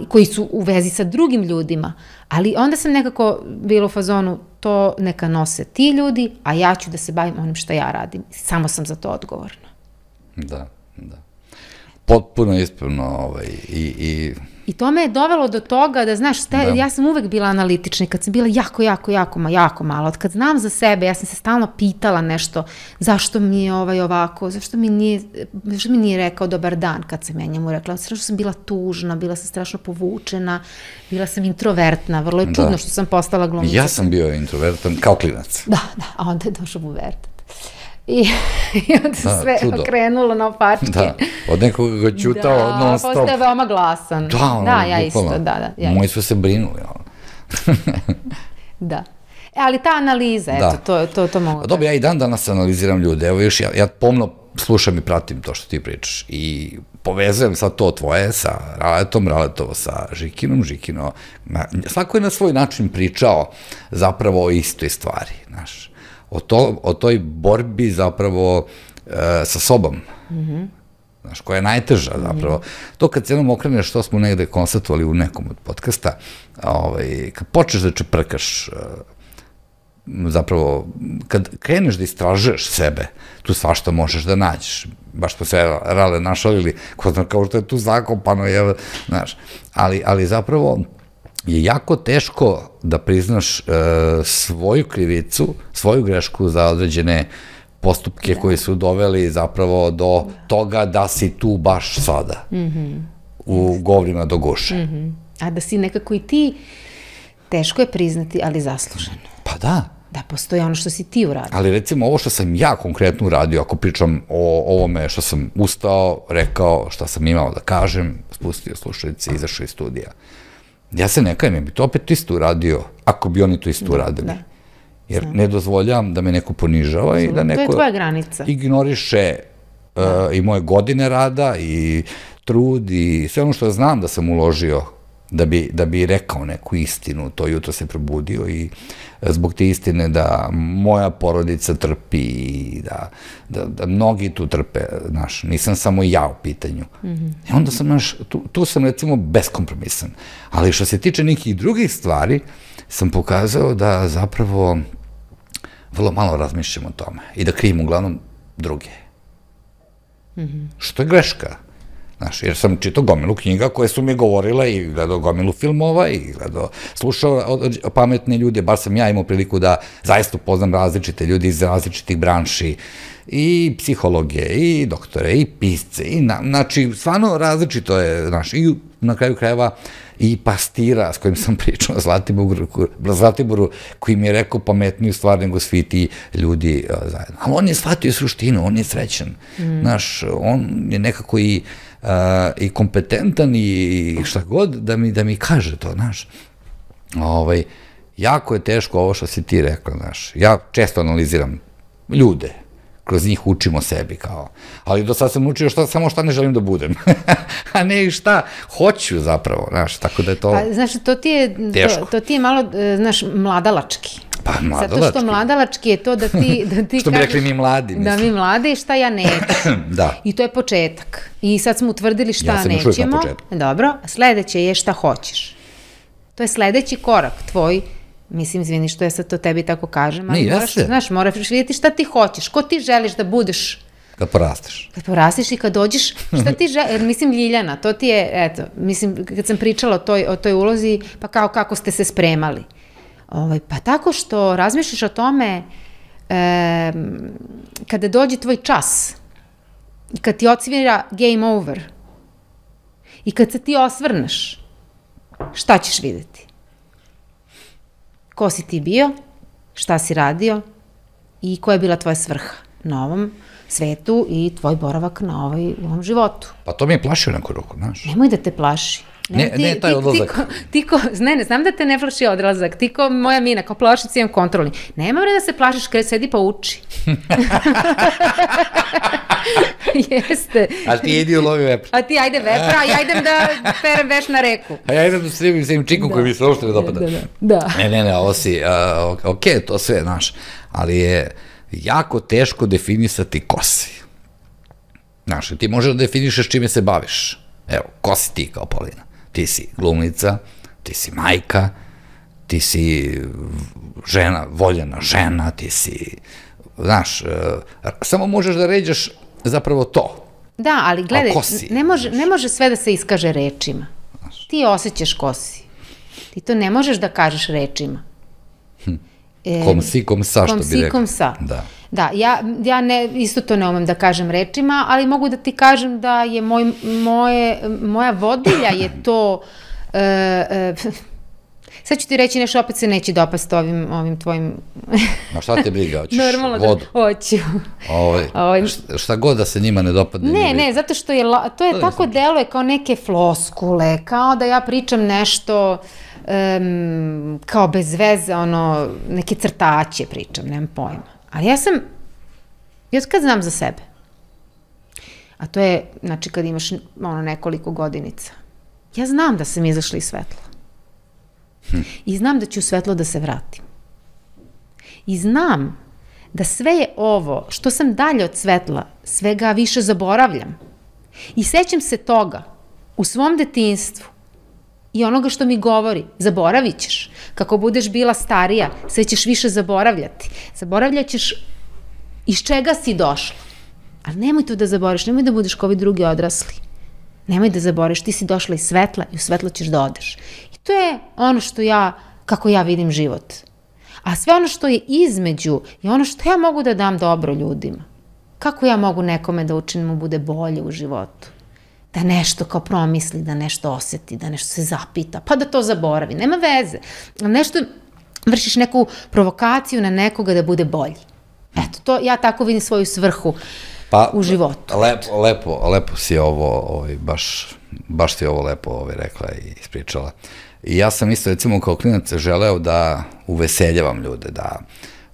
Speaker 2: koji su u vezi sa drugim ljudima, ali onda sam nekako bila u fazonu to neka nose ti ljudi, a ja ću da se bavim onim što ja radim. Samo sam za to odgovorna.
Speaker 1: Da. Potpuno ispravno.
Speaker 2: I to me je dovelo do toga da, znaš, ja sam uvek bila analitična i kad sam bila jako malo, od kad znam za sebe, ja sam se stalno pitala nešto, zašto mi je ovako, zašto mi nije rekao dobar dan kad sam ja njemu rekla, strašno sam bila tužna, bila sam strašno povučena, bila sam introvertna, vrlo je čudno što sam postala glumica.
Speaker 1: Ja sam bio introvertan kao klinac.
Speaker 2: Da, a onda je došao pubertet. I onda se sve okrenulo na opačke.
Speaker 1: Da, od nekoga ga ćutao non stop.
Speaker 2: Da, postaje veoma glasan. Da, ja isto, da.
Speaker 1: Moji su se brinuli.
Speaker 2: Da. Ali ta analiza, eto, to mogu da.
Speaker 1: Dobro, ja i dan danas analiziram ljude. Evo još, ja pomno slušam i pratim to što ti pričaš. I povezujem sad to tvoje sa Raletom, Raletovo sa Žikinom, Žikino. Svako je na svoj način pričao zapravo o istoj stvari, znaš. O toj borbi zapravo sa sobom, znaš, koja je najteža zapravo. To kad se jednom okreneš, što smo negde konstatovali u nekom od podcasta, kad počneš da čeprkaš, zapravo, kad kreneš da istražuješ sebe, tu svašta možeš da nađeš. Baš smo sve Rale našalili, kao što je tu zakopano, znaš. Ali zapravo je jako teško da priznaš svoju krivicu, svoju grešku za određene postupke koji su doveli zapravo do toga da si tu baš sada, u govorima do guše.
Speaker 2: A da si nekako i ti, teško je priznati, ali zasluženo.
Speaker 1: Pa da.
Speaker 2: Da postoji ono što si ti uradio.
Speaker 1: Ali recimo ovo što sam ja konkretno uradio, ako pričam o ovome što sam ustao, rekao, šta sam imao da kažem, spustio slušalice, izašao iz studija. Ja se ne kajem, bi to opet isto uradio, ako bi oni to isto uradili. Jer ne dozvoljam da me neko ponižava i da neko ignoriše i moje godine rada i trud i sve ono što znam da sam uložio da bi rekao neku istinu. To jutro se probudio i zbog te istine da moja porodica trpi i da mnogi tu trpe, znaš, nisam samo ja u pitanju. I onda sam, znaš, tu sam recimo beskompromisan. Ali što se tiče nekih drugih stvari, sam pokazao da zapravo vrlo malo razmišljam o tome i da krivim uglavnom druge. Što je greška. Znaš, jer sam čitao gomilu knjiga koje su mi govorile i gledao gomilu filmova i slušao pametne ljude, bar sam ja imao priliku da zaista upoznam različite ljudi iz različitih branši i psihologije, i doktore, i pisce, znači, stvarno različito je, znaš, i na kraju krajeva i pastira s kojim sam pričao, Zlatiboru, koji mi je rekao pametniju stvar nego svi ti ljudi zajedno. Ali on je shvatio suštinu, on je srećan, znaš, on je nekako i kompetentan i šta god da mi kaže to, znaš. Jako je teško ovo što si ti rekla, znaš. Ja često analiziram ljude, kroz njih učimo sebi, kao. Ali do sad sam učio samo šta ne želim da budem. A ne i šta hoću zapravo, znaš, tako da je to teško.
Speaker 2: Znaš, to ti je malo, znaš, mladalački.
Speaker 1: Pa, mladalački.
Speaker 2: Zato što mladalački je to da ti kažeš...
Speaker 1: Što bi rekli mi mladi, mislim.
Speaker 2: Da mi mladi, šta ja neću.
Speaker 1: Da.
Speaker 2: I to je početak. I sad smo utvrdili šta nećemo.
Speaker 1: Ja sam još uvijek na početku.
Speaker 2: Dobro, sledeće je šta hoćeš. To je sledeći korak tvoj. Mislim, izvini što ja sad to tebi tako kažem, ali moraš vidjeti šta ti hoćeš, ko ti želiš da budeš.
Speaker 1: Kad porasteš.
Speaker 2: Kad porasteš i kad dođeš, šta ti želiš, mislim, Ljiljana, to ti je, eto, mislim, kad sam pričala o toj ulozi, pa kao kako ste se spremali. Pa tako što razmišljaš o tome kada dođe tvoj čas i kad ti odsvira game over i kad se ti osvrneš, šta ćeš videti? Ko si ti bio, šta si radio i koja je bila tvoja svrha na ovom svetu i tvoj boravak na ovom životu.
Speaker 1: Pa to mi je plašio neku ruku, znaš.
Speaker 2: Nemoj da te plaši.
Speaker 1: Ne, taj odlazak.
Speaker 2: Ne, znam da te ne plaši odlazak. Ti ko moja mina, kao plašic imam kontrolni. Nema vreda da se plašiš kada sedi pa uči. Jeste.
Speaker 1: A ti idi u lovi vepra.
Speaker 2: A ti ajde vepra, a ja idem da perem veš na reku.
Speaker 1: A ja idem da stribim sa im čikom koji mi se uopšte ne dopada.
Speaker 2: Da.
Speaker 1: Ne, ovo si, ok, to sve, znaš, ali je jako teško definisati ko si. Znaš, ti možeš da definišeš čime se baviš. Evo, ko si ti kao Paulina? Ti si glumnica, ti si majka, ti si žena, voljena žena, ti si, znaš, samo možeš da ređaš zapravo to.
Speaker 2: Da, ali gledaj, ne može sve da se iskaže rečima. Ti osjećaš ko si. Ti to ne možeš da kažeš rečima.
Speaker 1: Kom si, kom sa, što bi rekao. Kom si,
Speaker 2: kom sa.
Speaker 1: Da.
Speaker 2: Da, ja isto to ne umem da kažem rečima, ali mogu da ti kažem da je moja vodilja je to... Sad ću ti reći nešto, opet se neće dopasti ovim tvojim...
Speaker 1: Ma šta te briga, hoćeš
Speaker 2: vodu? Hoću.
Speaker 1: Šta god da se njima ne dopadne.
Speaker 2: Ne, zato što to je tako deluje kao neke floskule, kao da ja pričam nešto kao bez veze, neke crtaće pričam, nemam pojma. Ali ja kad znam za sebe, a to je, znači, kad imaš nekoliko godinica, ja znam da sam izašla iz svetla. I znam da ću u svetlo da se vratim. I znam da sve je ovo, što sam dalje od svetla, sve ga više zaboravljam. I sećam se toga u svom detinjstvu i onoga što mi govori, zaboravit ćeš. Kako budeš bila starija, sve ćeš više zaboravljati. Zaboravljat ćeš iz čega si došla. Ali nemoj to da zaboraviš, nemoj da budeš kao ovi drugi odrasli. Nemoj da zaboraviš, ti si došla iz svetla i u svetlo ćeš da odeš. I to je ono kako ja vidim život. A sve ono što je između je ono što ja mogu da dam dobro ljudima. Kako ja mogu nekome da učinim mu bude bolje u životu? Da nešto kao promisli, da nešto oseti, da nešto se zapita, pa da to zaboravi. Nema veze. Nešto, vršiš neku provokaciju na nekoga da bude bolji. Eto, ja tako vidim svoju svrhu u životu.
Speaker 1: Lepo si ovo, baš si ovo lepo rekla i ispričala. I ja sam isto, recimo, kao klinac želeo da uveseljavam ljude,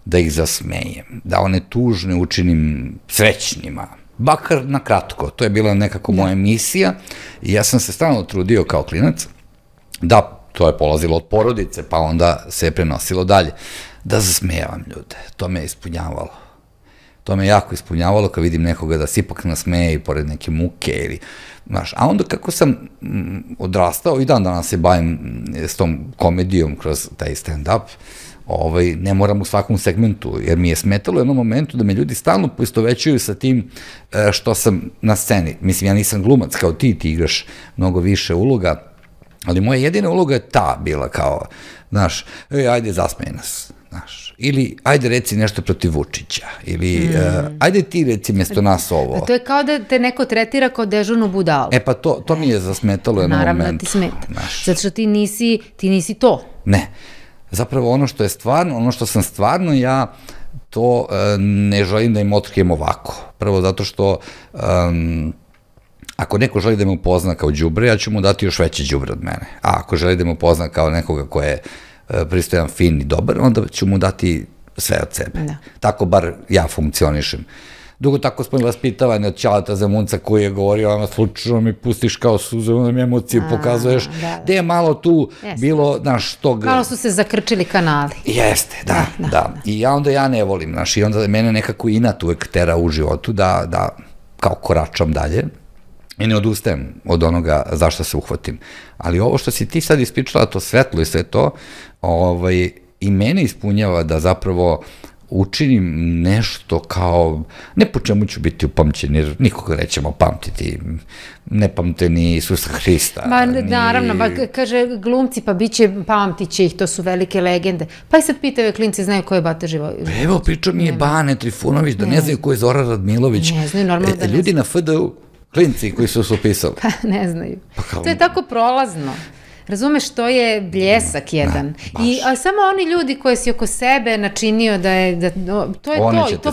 Speaker 1: da ih zasmejem, da one tužne učinim srećnima, bakar na kratko. To je bila nekako moja misija i ja sam se stalno trudio kao klinac, da, to je polazilo od porodice, pa onda se je prenosilo dalje, da zasmejavam ljude. To me je ispunjavalo. To me jako ispunjavalo kad vidim nekoga da se ipak nasmeje i pored neke muke ili, znaš, a onda kako sam odrastao i dan danas se bavim s tom komedijom kroz taj stand-up, ne moram u svakom segmentu, jer mi je smetalo u jednom momentu da me ljudi stalno poistovećuju sa tim što sam na sceni. Mislim, ja nisam glumac kao ti igraš mnogo više uloga, ali moja jedina uloga je ta bila kao, znaš, ajde zasmej nas, znaš, ili ajde reci nešto protiv Vučića, ili ajde ti reci mjesto nas ovo.
Speaker 2: To je kao da te neko tretira kao dežurnu budalu.
Speaker 1: Pa to mi je zasmetalo u jednom momentu.
Speaker 2: Naravno ti smeta, zato što ti nisi to.
Speaker 1: Ne, zapravo ono što je stvarno, ono što sam stvarno ja, to ne želim da im otkrijem ovako. Prvo zato što ako neko želi da me upozna kao đubre, ja ću mu dati još veće đubre od mene. A ako želi da me upozna kao nekoga ko je pristojan, fin i dobar, onda ću mu dati sve od sebe. Tako bar ja funkcionišem. Dugo tako smo vaspitavani od Ćaleta Zemunca koji je govorio, slučajno mi pustiš kao suze, onda mi emociju pokazuješ, gde je malo tu bilo, znaš, tog...
Speaker 2: Malo su se zakrčili kanali.
Speaker 1: Jeste, da. I onda ja ne volim, znaš, i onda mene nekako inat uvek tera u životu da kao koračam dalje i ne odustajem od onoga zašto se uhvatim. Ali ovo što si ti sad ispričala, to svetlo i sve to, i mene ispunjava da zapravo učinim nešto kao, ne po čemu ću biti upamćen, jer nikoga nećemo pamtiti, ne pamte ni Isusa Hrista.
Speaker 2: Naravno, kaže glumci, pa pamtit će ih, to su velike legende. Pa i sad pitaju klinci, znaju ko je Bata Živojinović.
Speaker 1: Evo, pričao mi je Bane Trifunović, da ne znaju ko je Zoran Radmilović.
Speaker 2: Ne znaju, normalno da ne znaju.
Speaker 1: Ljudi na FDU, klinci koji su upisali.
Speaker 2: Pa ne znaju. To je tako prolazno. Razumeš, to je bljesak jedan. A samo oni ljudi koji si oko sebe načinio da je, to je to, i to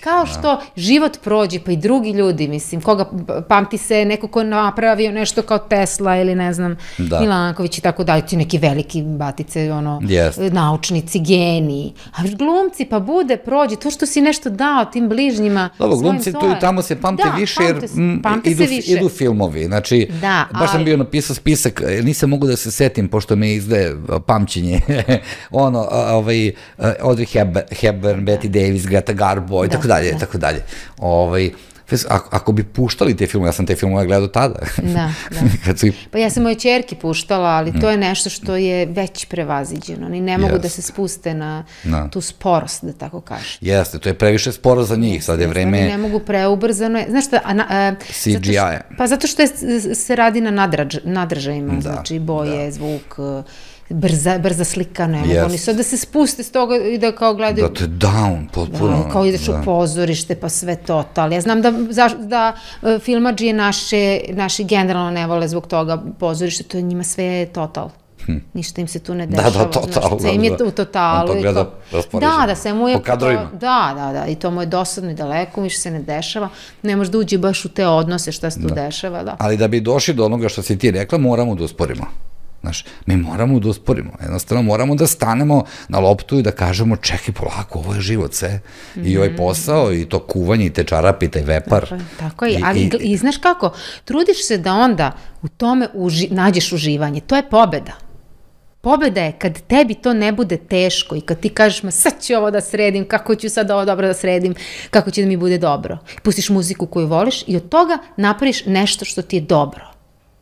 Speaker 2: kao što život prođe, pa i drugi ljudi, mislim, koga pamti se neko ko napravio nešto kao Tesla ili ne znam, Milanković i tako dalje, ti neki veliki batice, naučnici, geniji, a glumci pa prođe, to što si nešto dao tim bližnjima.
Speaker 1: Dobro, glumci tu i tamo se pamte više, jer idu filmovi, znači, baš sam bio napisao spisak, nisam mogu da se setim, pošto me izdaje pamćenje, Audrey Hepburn, Betty Davis, Greta Garbo i tako dalje, tako dalje. ako bi puštali te filmove, ja sam te filmove gledao tada.
Speaker 2: Da. Pa ja sam moje ćerki puštala, ali to je nešto što je već prevaziđeno. Oni ne mogu da se spuste na tu sporost, da tako kažem.
Speaker 1: Jeste, to je previše sporo za njih, sad je vreme...
Speaker 2: Oni ne mogu preubrzano. Znaš šta?
Speaker 1: CGI.
Speaker 2: Pa zato što se radi na nadražajima, znači boje, zvuk, brza slika, ne mogu oni sad da se spuste s toga i da kao gledaju...
Speaker 1: Da te down, potpuno.
Speaker 2: Kao ideš u pozorište, pa sve total. Ja znam da filmadžije naši generalno ne vole zbog toga pozorište, to je njima sve total. Ništa im se tu ne dešava.
Speaker 1: Da, total.
Speaker 2: Sve im je u totalu.
Speaker 1: On to gleda raspoređeno.
Speaker 2: Da, sve mu je...
Speaker 1: Po kadrovima.
Speaker 2: Da, i to mu je dosadno i daleko, više se ne dešava. Ne može da uđe baš u te odnose šta se tu dešava, da.
Speaker 1: Ali da bi došli do onoga što si ti rekla, moramo da usporimo. Znaš, mi moramo da usporimo, jednostavno moramo da stanemo na loptu i da kažemo čekaj polako, ovo je život sve, i ovaj posao, i to kuvanje, i te čarape, i taj vepar.
Speaker 2: Tako je, ali i znaš kako, trudiš se da onda u tome nađeš uživanje, to je pobeda. Pobeda je kad tebi to ne bude teško i kad ti kažeš, ma sad ću ovo da sredim, kako ću sad ovo dobro da sredim, kako će da mi bude dobro. Pustiš muziku koju voliš i od toga napraviš nešto što ti je dobro.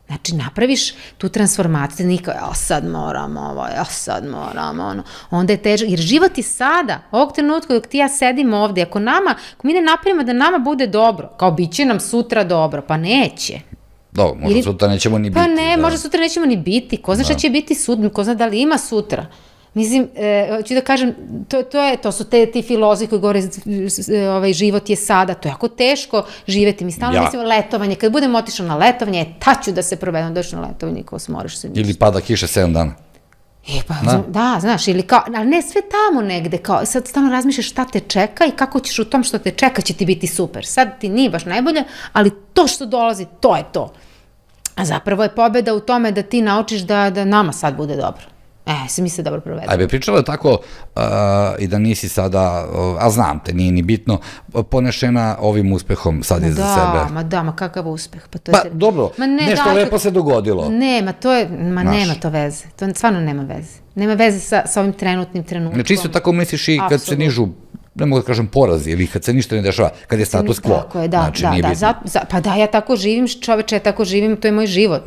Speaker 2: Znači, napraviš tu transformaciju, nikao, sad moram ovo, sad moram ono, onda je težak, jer život je sada, ovog trenutka dok ti ja sedim ovde, ako mi ne napravimo da nama bude dobro, kao bit će nam sutra dobro, pa neće.
Speaker 1: Dobro, možda sutra nećemo ni biti.
Speaker 2: Pa ne, možda sutra nećemo ni biti, ko zna šta će biti sutra, ko zna da li ima sutra. Mislim, ću da kažem, to su ti filozofi koji govore život je sada, to je jako teško živeti. Mi stalno mislimo letovanje, kad budem otišla na letovanje, ću da se provedem, dođeš na letovanje, ko smoriš se ništa.
Speaker 1: Ili pada kiša 7 dana.
Speaker 2: Da, znaš, ili kao, ali ne sve tamo negde, kao sad stalno razmišljaš šta te čeka i kako ćeš u tom što te čeka će ti biti super. Sad ti nije baš najbolje, ali to što dolazi, to je to. A zapravo je pobeda u tome da ti naučiš da nama sad bude dobro. Se mi se dobro provedemo.
Speaker 1: A bi pričala tako i da nisi sada, a znam te, nije ni bitno, ponešena ovim uspehom sad iza sebe.
Speaker 2: Ma kakav uspeh.
Speaker 1: Pa dobro, nešto lepo se dogodilo.
Speaker 2: Nema to veze. To stvarno nema veze. Nema veze sa ovim trenutnim trenutkom.
Speaker 1: Znači isto tako misliš i kad se nižu, ne mogu da kažem porazi, ili kad se ništa ne dešava, kad je status quo.
Speaker 2: Tako je, da. Pa da, ja tako živim, čoveče, ja tako živim, to je moj život.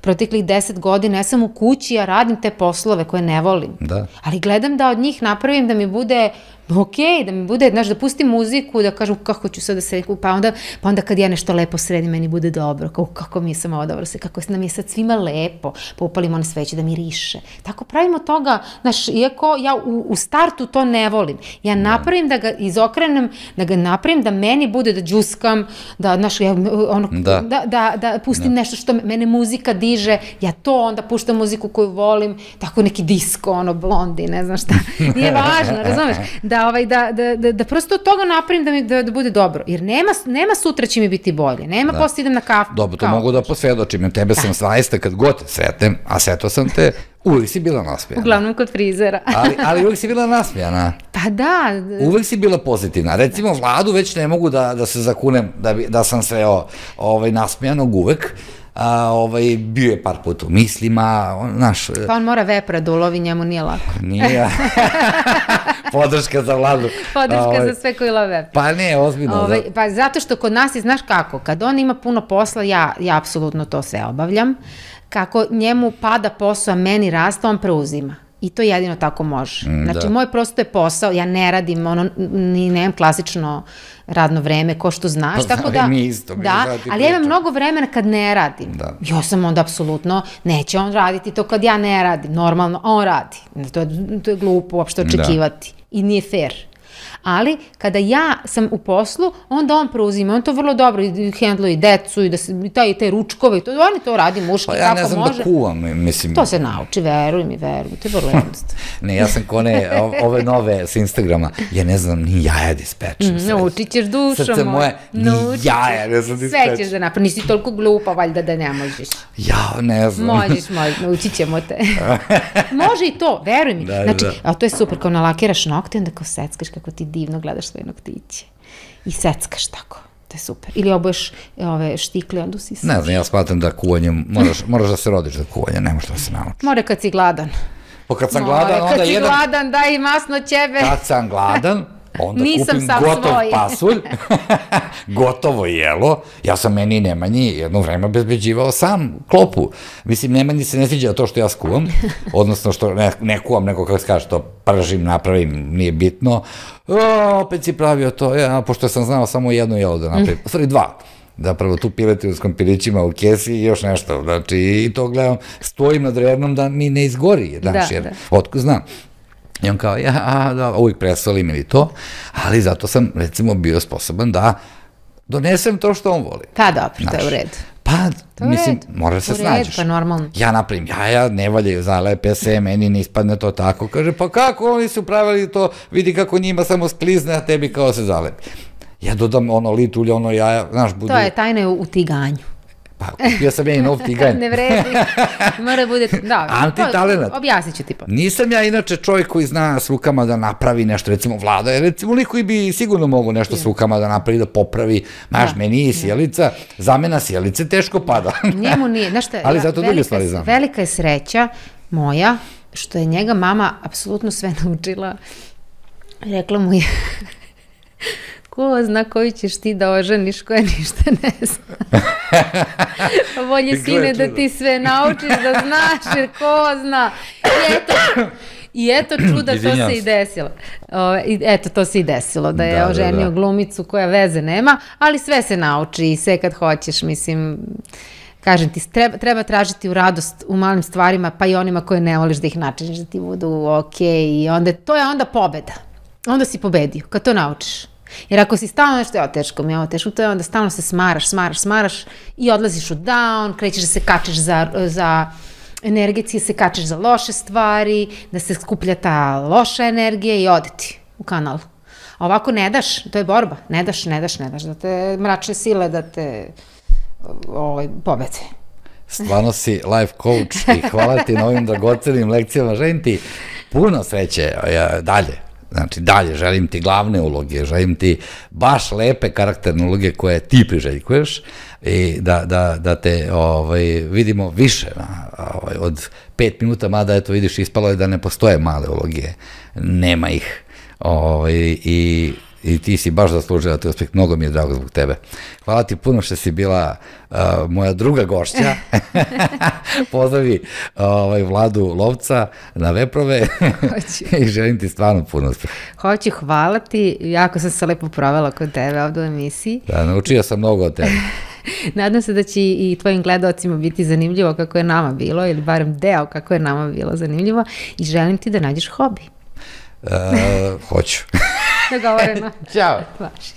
Speaker 2: Proteklih 10 godina, ja sam u kući, ja radim te poslove koje ne volim. Ali gledam da od njih napravim da mi bude okej, da mi bude, znaš, da pustim muziku, da kažem kako ću sad da sredim, pa onda kad ja nešto lepo sredim, meni bude dobro, kako mi je samo ovo dobro, kako nam je sad svima lepo, pa upalimo one sveće da miriše. Tako pravimo toga, znaš, iako ja u startu to ne volim, ja napravim da ga izokrenem, da ga napravim da meni bude da džuskam, da, znaš, da pustim nešto što mene muzika diže, ja to onda puštam muziku koju volim, tako neki disko, blondi, ne znam šta, nije važno, razumeš? Da prosto od toga napravim da bude dobro. Jer nema sutra će mi biti bolje. Nema posle idem na kafu.
Speaker 1: Dobro, to mogu da posvedočim. Tebe sam zaista kad god sretnem, a sretao sam te, uvijek si bila nasmijana.
Speaker 2: Uglavnom kod frizera.
Speaker 1: Ali uvijek si bila nasmijana.
Speaker 2: Pa da.
Speaker 1: Uvijek si bila pozitivna. Recimo, Vladu već ne mogu da se zakunem da sam sveo nasmijanog uvek. Bio je par puta u mislima, znaš...
Speaker 2: Pa on mora vepra da ulovi, njemu nije lako.
Speaker 1: Nije. Podrška za Vladu.
Speaker 2: Podrška za sve koji love vepra.
Speaker 1: Pa ne, ozbiljno.
Speaker 2: Pa zato što kod nas je, znaš kako, kad on ima puno posla, ja apsolutno to sve obavljam. Kako njemu pada posao, a meni raste, on preuzima. I to jedino tako može. Znači, moj prosto je posao, ja ne radim, ni nemam klasično radno vreme, ko što znaš, tako da... ali ja imam mnogo vremena kad ne radim. Ja sam onda apsolutno, neće on raditi to kad ja ne radim, normalno, a on radi. To je glupo uopšte očekivati i nije fair. Ali kada ja sam u poslu, onda on preuzima, on to vrlo dobro hendluje i decu i te ručkove, oni to radi muški, kako može.
Speaker 1: Pa ja ne znam da kuvam, mislim.
Speaker 2: To se nauči, veruj mi, to je vrlo jednostavno.
Speaker 1: Ne, ja sam kone, ove nove s Instagrama, ja ne znam ni jaja da ispečem.
Speaker 2: Naučit ćeš dušo moje.
Speaker 1: Srce moje, ni jaja ne znam da ispečem.
Speaker 2: Sve ćeš da napravi, nisi toliko glupa, valjda da ne možeš.
Speaker 1: Ja, ne znam.
Speaker 2: Možeš, naučit ćemo te. Može i to, veruj mi. Znači, a to je super, kao nalakiraš nokte, onda kao seckaš kako ti divno gledaš svoje noktiće. I seckaš tako. To je super. Ili oboješ ove štikle, onda si...
Speaker 1: Ne znam, ja smatram da kuvanjem, moraš da se rodiš za kuvanje, ne možeš da se naučiš.
Speaker 2: More kad si gladan.
Speaker 1: Pa kad sam gladan, onda jedan...
Speaker 2: Kad si gladan, daj masno ćebe.
Speaker 1: Kad sam gladan, onda kupim gotov pasulj, gotovo jelo, ja sam meni Nemanji jedno vreme obezbeđivao sam klopu. Mislim, Nemanji se ne sviđa to što ja skuvam, odnosno što ne kuvam, nego kako se kaže, to pržim, napravim, nije bitno. Opet si pravio to, pošto sam znao samo jedno jelo da napravim, u stvari dva. Zapravo tu piletinu s kompirićima u kesi i još nešto, znači i to gledam, stojim nad rednom da mi ne izgori, znaš, jer otko znam. I on kao, da, uvijek presolim ili to, ali zato sam, recimo, bio sposoban da donesem to što on voli.
Speaker 2: Pa dobro, to je u redu.
Speaker 1: Pa, mislim, moraš se snađeš.
Speaker 2: Pa normalno.
Speaker 1: Ja napravim jaja, ne valjaju, zalepe se, meni ne ispadne to tako. Kaže, pa kako oni su pravili to, vidi kako njima samo sklizne, a tebi kao se zalepi. Ja dodam ono lit ulje, ono jaja, znaš, budu...
Speaker 2: To je tajna u tiganju.
Speaker 1: Pa, kupio sam ja i nov tiganj.
Speaker 2: Ne vredi, mora bude... Da,
Speaker 1: antitalenat.
Speaker 2: Objasnit ću ti pa.
Speaker 1: Nisam ja inače čovjek koji zna s rukama da napravi nešto, recimo Vlada je recimo lik koji bi sigurno mogu nešto s rukama da napravi, da popravi, znaš, meni i sjelica, zamena sjelice teško pada.
Speaker 2: Njemu nije, znaš šta,
Speaker 1: ali zato druge stvari znam.
Speaker 2: Velika je sreća moja, što je njega mama apsolutno sve naučila, rekla mu je... Ko zna koju ćeš ti da oženiš, koja ništa ne zna. Bolje, sine, da ti sve naučiš, da znaš, jer ko zna. I eto čuda, to se i desilo. Eto, to se i desilo, da je oženio glumicu koja veze nema, ali sve se nauči i sve kad hoćeš, mislim... Kažem ti, treba tražiti u radost u malim stvarima, pa i onima koje ne voliš da ih načiniš, da ti budu okej, i onda, to je onda pobeda. Onda si pobedio, kad to naučiš. Jer ako si stalno nešto, ovo teško, to je onda stalno se smaraš i odlaziš u down, krećeš da se kačeš za energetski, se kačeš za loše stvari, da se skuplja ta loša energija i ode ti u kanalu. A ovako ne daš, to je borba, ne daš, da te mračne sile, da te pobede.
Speaker 1: Stvarno si life coach i hvala ti na ovim dragocenim lekcijama, želim ti puno sreće dalje. Znači, dalje, želim ti glavne uloge, želim ti baš lepe karakterne uloge koje ti priželjkuješ i da te vidimo više od 5 minuta, mada eto vidiš, ispalo je da ne postoje male uloge, nema ih i ti si baš zaslužila te uspeh, mnogo mi je drago zbog tebe. Hvala ti puno što si bila moja druga gošća. Pozdravi Vladu Lovca na Veprove i želim ti stvarno puno uspeh.
Speaker 2: Hoću, hvala ti, jako sam se lepo provela kod tebe ovdje u emisiji.
Speaker 1: Da, naučio sam mnogo od tebe.
Speaker 2: Nadam se da će i tvojim gledalcima biti zanimljivo kako je nama bilo, ili barem deo kako je nama bilo zanimljivo, i želim ti da nađeš hobi.
Speaker 1: Hoću.
Speaker 2: Dogovoreno.
Speaker 1: Ćao.
Speaker 2: Važi.